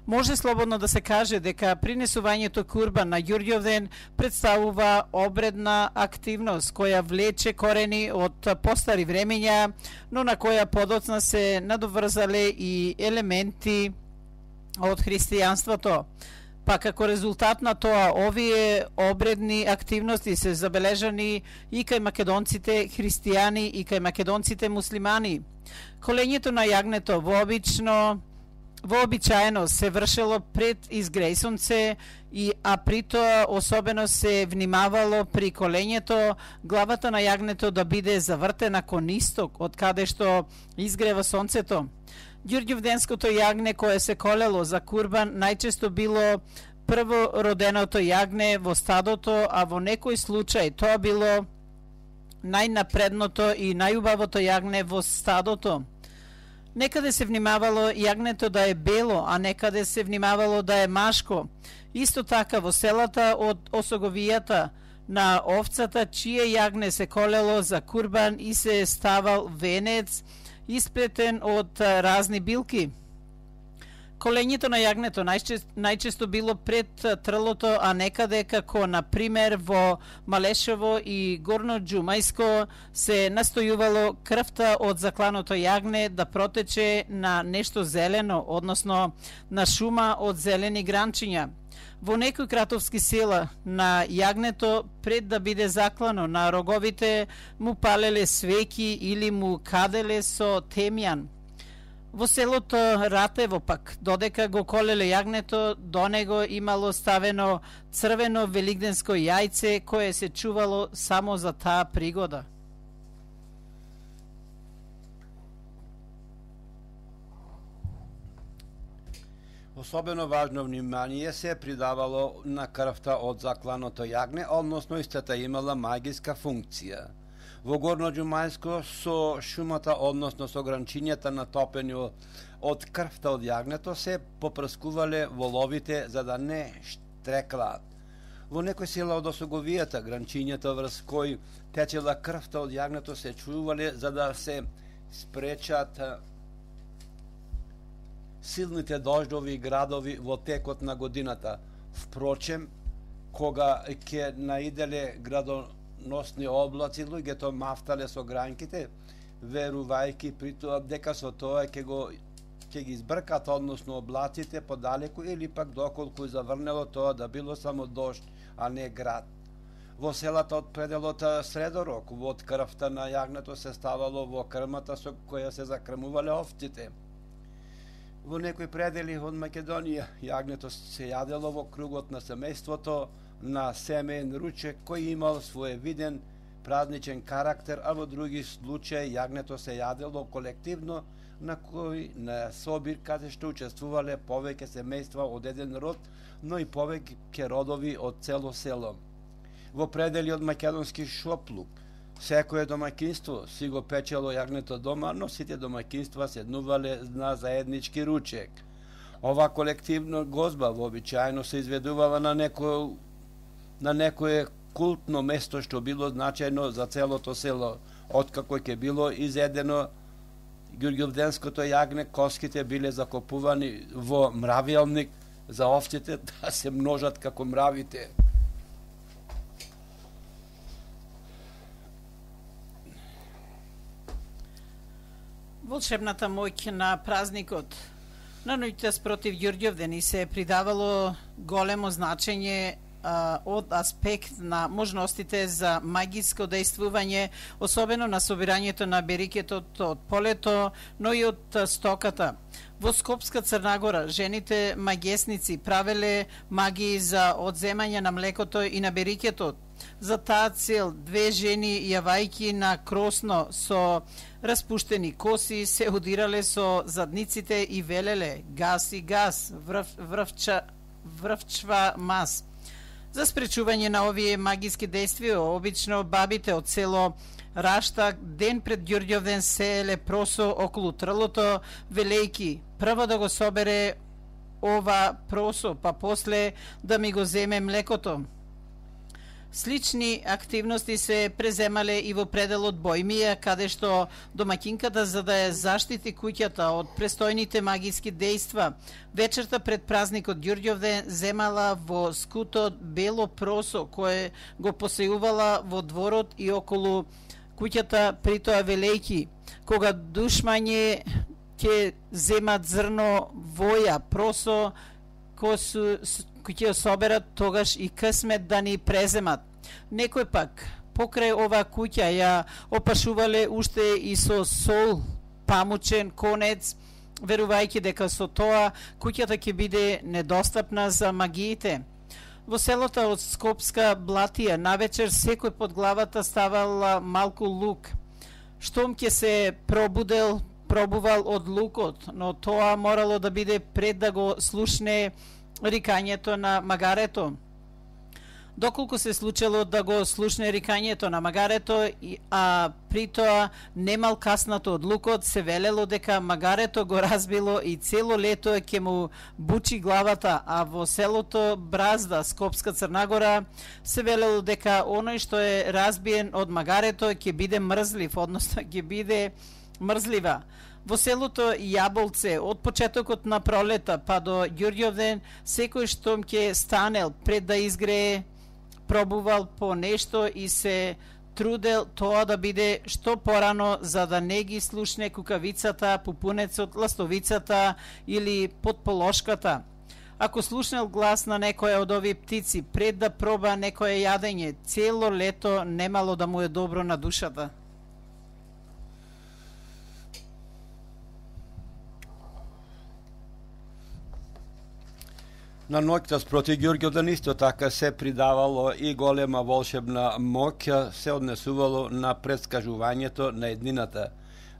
Може слободно да се каже дека принесувањето курбан на Ѓурѓовден представува обредна активност која влече корени од постари времења, но на која подоцна се надоврзале и елементи од христијанството. Па како резултат на тоа, овие обредни активности се забележани и кај македонците христијани и кај македонците муслимани. Колењето на јагнето вообично вообичаено се вршело пред изгрејсонце, и а притоа особено се внимавало при колењето главата на јагнето да биде завртена кон исток, од каде што изгрева сонцето. Ѓурѓовденското јагне кое се колело за курбан најчесто било прво роденото јагне во стадото, а во некој случај тоа било најнапредното и најубавото јагне во стадото. Некаде се внимавало јагнето да е бело, а некаде се внимавало да е машко. Исто така во селата од осоговијата на овцата, чие јагне се колело за курбан и се ставал венец исплетен од разни билки. Колењето на јагнето најчесто, најчесто било пред трлото, а некаде како на пример во Малешево и Горно Џумајско се настојувало крвта од закланото јагне да протече на нешто зелено, односно на шума од зелени гранчиња. Во некои кратовски села на јагнето пред да биде заклано на роговите му палеле свеќи или му каделе со темјан. Во селото Ратево пак, додека го колеле јагнето, до него имало ставено црвено велигденско јајце кое се чувало само за таа пригода. Особено важно внимание се придавало на крвта од закланото јагне, односно истата имала магиска функција. Во Горно Џумајско со шумата, односно со гранчињата натопени од крвта од јагнето, се попрскувале воловите за да не штреклаат. Во некој села од осоговијата, гранчињата врз кои течела крвта од јагнето се чувале за да се спречат силните дождови и градови во текот на годината. Впрочем, кога ќе наиделе градоносни облаци, луѓето мафтале со гранките, верувајќи при тоа дека со тоа ќе го ќе ги избркат, односно облаците подалеку, или пак доколку заврнело тоа да било само дожд, а не град. Во селата од пределот Средорок, од крвта на јагнето се ставало во крмата со која се закрмувале овците. Во некои предели од Македонија, јагнето се јадело во кругот на семејството на семеен ручек кој имал своевиден празничен карактер, а во други случаи јагнето се јадело колективно на кој на собир каде што учествувале повеќе семејства од еден род, но и повеќе родови од цело село. Во предели од македонски Шоплук, секое домаќинство си го печело јагнето дома, но сите домаќинства седнувале на заеднички ручек. Ова колективна гозба вообичаено се изведувала на некој на некое култно место што било значајно за целото село. Откако ќе било изедено ѓурѓовденското јагне, коските биле закопувани во мравјалник за овците да се множат како мравите. Волшебната моќ на празникот на ноќта спротив Ѓурѓовден се придавало големо значење а, од аспект на можностите за магиско дејствување, особено на собирањето на берикетот од полето, но и од стоката. Во Скопска Црнагора жените магесници правеле магии за одземање на млекото и на берикетот. За таа цел две жени јавајки на кросно со распуштени коси се удирале со задниците и велеле гаси гас, врв, врвча, врвчва мас. За спречување на овие магиски действија, обично бабите од село Раштак ден пред Ѓурѓовден сееле просо околу трлото, велејки прво да го собере ова просо, па после да ми го земе млекото. Слични активности се преземале и во пределот Бојмија, каде што домаќинката, за да ја заштити куќата од престојните магиски дејства, вечерта пред празникот Ѓурѓовден земала во скутот бело просо кое го посејувала во дворот и околу куќата, притоа велејки кога душмање ќе земат зрно воја просо кој ќе соберат, тогаш и късмет да ни преземат. Некој пак покрај ова куќа ја опашувале уште и со сол, памучен, конец верувајќи дека со тоа куќата ќе биде недостапна за магиите. Во селото од Скопска Блатија навечер секој под главата ставал малку лук. Штом ќе се пробудел, пробувал од лукот, но тоа морало да биде пред да го слушне рикањето на магарето. Доколку се случило да го слушне рикањето на магарето, а при тоа немал каснато од лукот, се велело дека магарето го разбило и цело лето ќе му бучи главата, а во селото Бразда, Скопска Црнагора, се велело дека оној што е разбиен од магарето ќе биде мрзлив, односно ќе биде мрзлива. Во селото Јаболце, од почетокот на пролета па до Ѓурѓовден, секој штом ќе станел пред да изгрее, пробувал по нешто и се трудел тоа да биде што порано, за да не ги слушне кукавицата, пупунецот, ластовицата или подполошката. Ако слушнел глас на некоја од овие птици пред да проба некое јадење, цело лето немало да му е добро на душата. На ноќта спроти Ѓурѓовден исто така се придавало и голема волшебна моќ, се однесувало на предскажувањето на еднината.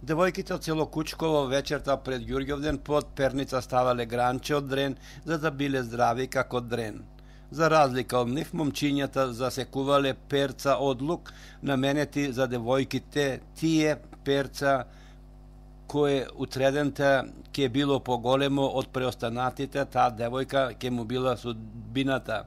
Девојките од село Кучково вечерта пред Ѓурѓовден под перница ставале гранче од дрен, за да биле здрави како дрен. За разлика од нив, момчињата засекувале перца од лук, наменети за девојките. Тие перца кое утредента ќе било поголемо од преостанатите, таа девојка ќе му била судбината.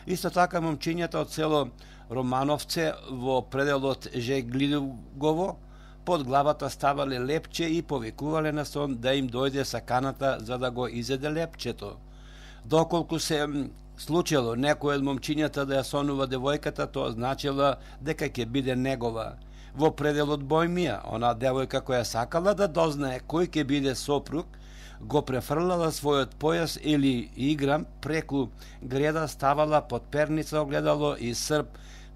Исто така момчињата од село Романовце во пределот Жеглигово под главата ставале лепче и повикувале на сон да им дојде саканата за да го изеде лепчето. Доколку се случило некој од момчињата да ја сонува девојката, тоа значило дека ќе биде негова. Во пределот Бојмија, она девојка која сакала да дознае кој ќе биде сопруг, го префрлала својот појас или играм преку греда, ставала под перница огледало и срп,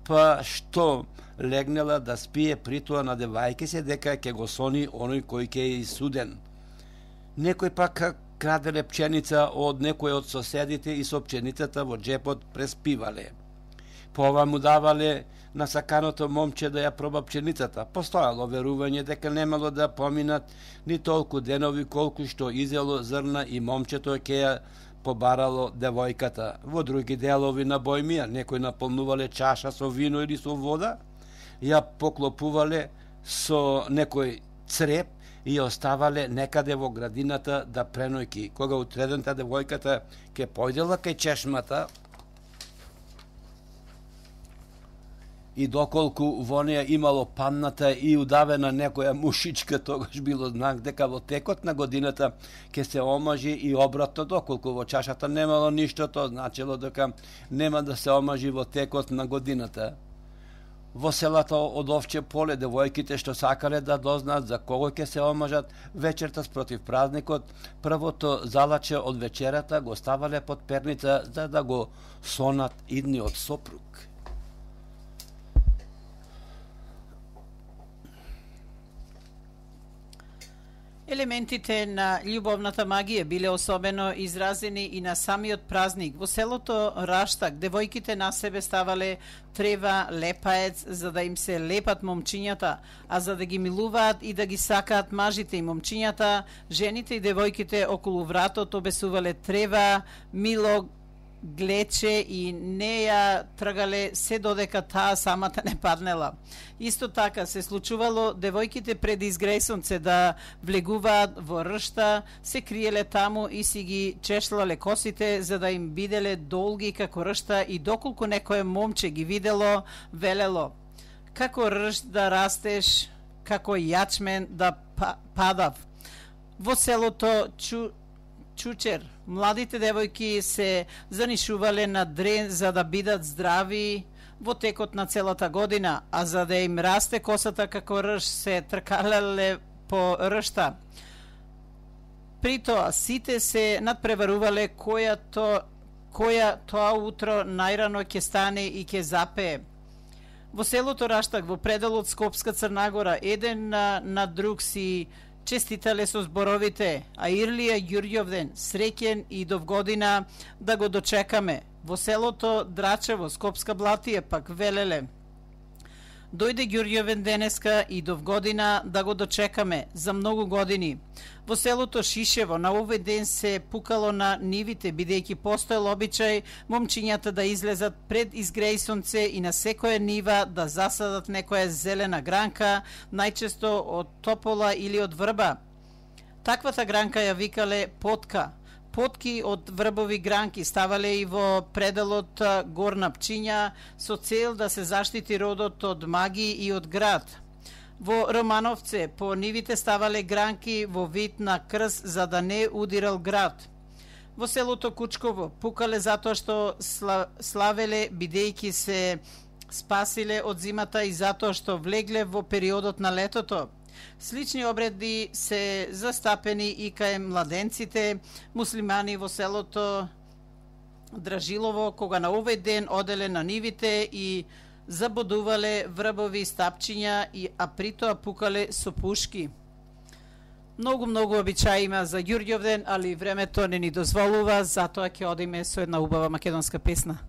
па што легнела да спие, притоа надевајќи се дека ќе го сони оној кој ќе е исуден. Некој пак краделе пченица од некој од соседите и со пченицата во джепот преспивале. По ова му давале на саканото момче да ја проба пченицата. Постојало верување дека немало да поминат ни толку денови колку што изело зрна и момчето ќе ја побарало девојката. Во други делови на Бојмија некој наполнувале чаша со вино или со вода, ја поклопувале со некој цреп и ја оставале некаде во градината да пренојки. Кога утредента девојката ќе појдела кај чешмата, и доколку во неја имало панната и удавена некоја мушичка, тогаш било знак дека во текот на годината ќе се омажи, и обратно, доколку во чашата немало ништо, тоа значило дека нема да се омажи во текот на годината. Во селата од Овче поле девојките што сакале да дознаат за кого ќе се омажат вечерта спротив празникот, првото залаче од вечерата го ставале под перница за да го сонат идниот сопруг. Елементите на љубовната магија биле особено изразени и на самиот празник. Во селото Раштак девојките на себе ставале трева, лепаец, за да им се лепат момчињата, а за да ги милуваат и да ги сакаат мажите и момчињата, жените и девојките околу вратот обесувале трева, мило, глече и не ја тргале се додека таа самата не паднела. Исто така се случувало девојките пред изгрејсонце да влегуваат во ршта, се криеле таму и си ги чешлале косите за да им биделе долги како ршта, и доколку некое момче ги видело, велело: како ршт да растеш, како јачмен да падав. Во селото Чу Чучер младите девојки се занишувале на дрен за да бидат здрави во текот на целата година, а за да им расте косата како рж се тркалеле по ршта. При тоа сите се надпреварувале која, то, која тоа утро најрано ќе стане и ќе запее. Во селото Раштак, во пределот Скопска Црнагора, еден на, на друг си честитале со зборовите: а Ирлија Ѓурѓовден, среќен и довгодина да го дочекаме. Во селото Драчево, Скопска Блатија, пак велеле: дојде Ѓурѓовден денеска и довгодина да го дочекаме за многу години. Во селото Шишево на овој ден се пукало на нивите, бидејќи постоел обичај момчињата да излезат пред изгреј сонце и на секоја нива да засадат некоја зелена гранка, најчесто од топола или од врба. Таквата гранка ја викале потка. Потки од врбови гранки ставале и во пределот горна пчиња со цел да се заштити родот од маги и од град. Во Романовце по нивите ставале гранки во вид на крст за да не удирал град. Во селото Кучково пукале затоа што славеле бидејќи се спасиле од зимата и затоа што влегле во периодот на летото. Слични обреди се застапени и кај младенците муслимани во селото Дражилово, кога на овој ден оделе на нивите и забодувале врбови стапчиња, и а притоа пукале со пушки. Многу, многу обичаи има за Ѓурѓовден, али времето не ни дозволува, затоа ќе одиме со една убава македонска песна.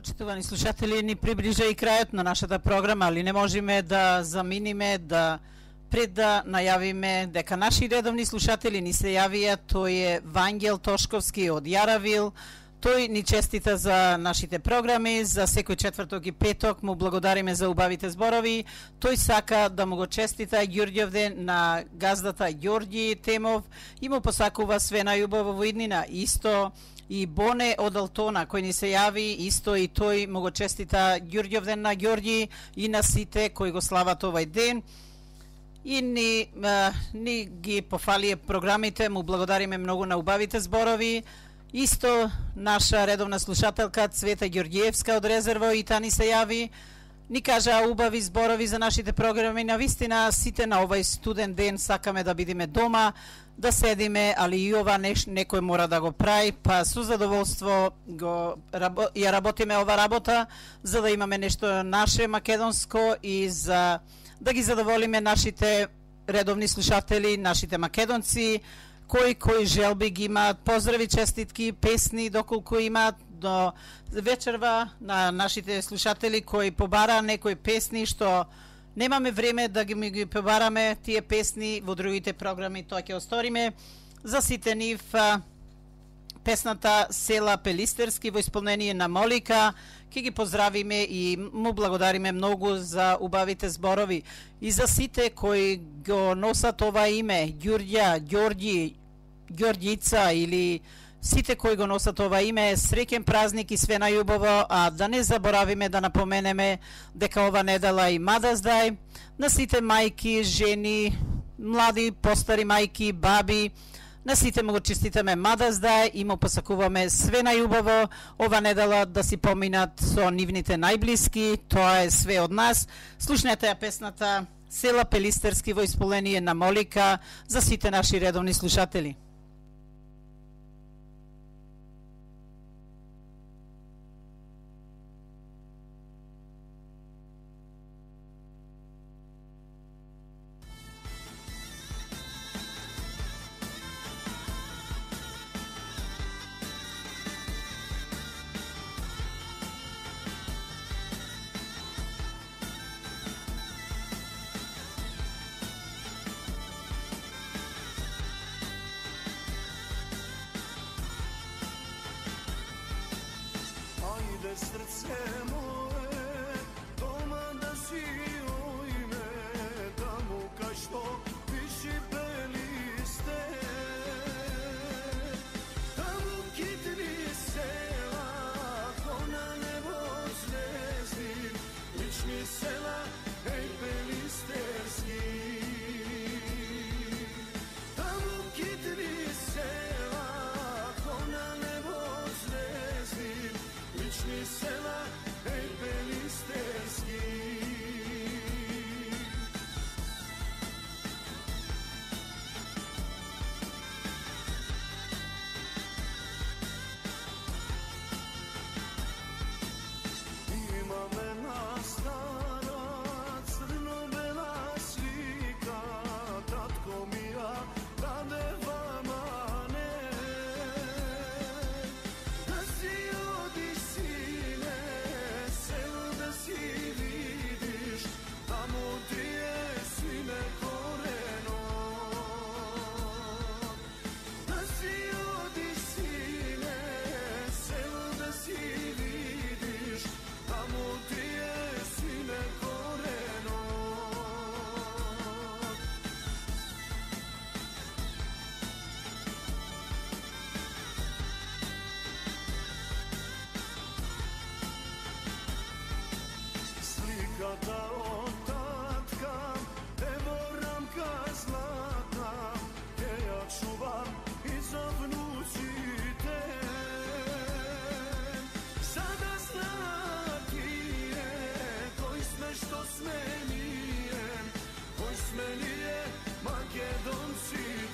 Почитувани слушатели, ни приближа и крајот на нашата програма, али не можеме да заминиме да пред да најавиме дека наши редовни слушатели ни се јавија. Тој е Вангел Тошковски од Јаравил. Тој ни честита за нашите програми, за секој четврток и петок, му благодариме за убавите зборови. Тој сака да му го честита Ѓурѓевден на газдата Ѓорѓи Темов и му посакува све најубаво во иднина. Исто и Боне од Алтона, кој ни се јави, исто и тој му го честита Ѓурѓевден на Ѓорѓи и на сите кои го слават овај ден. И ни, а, ни ги пофалие програмите, му благодариме многу на убавите зборови. Исто наша редовна слушателка Цвета Ѓорѓиевска од Резерво и та ни се јави, ни кажа убави зборови за нашите програми. На вистина сите на овај студен ден сакаме да бидеме дома, да седиме, али и ова неш, некој мора да го прави, па со задоволство го рабо, ја работиме ова работа за да имаме нешто наше македонско и за да ги задоволиме нашите редовни слушатели, нашите македонци, кои кои желби ги имаат, поздрави, честитки, песни, доколку имаат до вечерва на нашите слушатели кои побара некои песни што немаме време да ги, ги побараме тие песни во другите програми, тоа ќе осториме. За сите нив песната Села Пелистерски во исполнение на Молика, ќе ги поздравиме и му благодариме многу за убавите зборови. И за сите кои го носат ова име, Ѓурѓа, Ѓорѓи, Ѓорѓица или сите кои го носат ова име, среќен празник и све најубаво, а да не заборавиме да напоменеме дека ова недела и Mother's Day на сите мајки, жени, млади, постари мајки, баби. На сите му го честитаме Mother's Day и му посакуваме све најубаво ова недела да си поминат со нивните најблиски. Тоа е све од нас. Слушнете ја песната Села Пелистерски во исполнение на Молика за сите наши редовни слушатели. Srce moje, doma da si ujme, tamo ka što piši peliste, tamo kitni sela, ko na nebo zvezdi, lični sela, ej pelisterski. Tamo kitni sela, ko na nebo zvezdi, lični sela, ej pelisterski. Imam jedna stara crno-bela slika, tatko mi ja dade vama ne. Da si odi sine, selo da si vidiš, tamo ti je sine koreno. Da si odi sine, selo da si vidiš, tamo ti je sine koreno. Slikata od tatka, evo ramka zlatna, te ja čuvam i za vnucite. Sada znati je, koji sme što sme nije, koji sme nije Makedonci.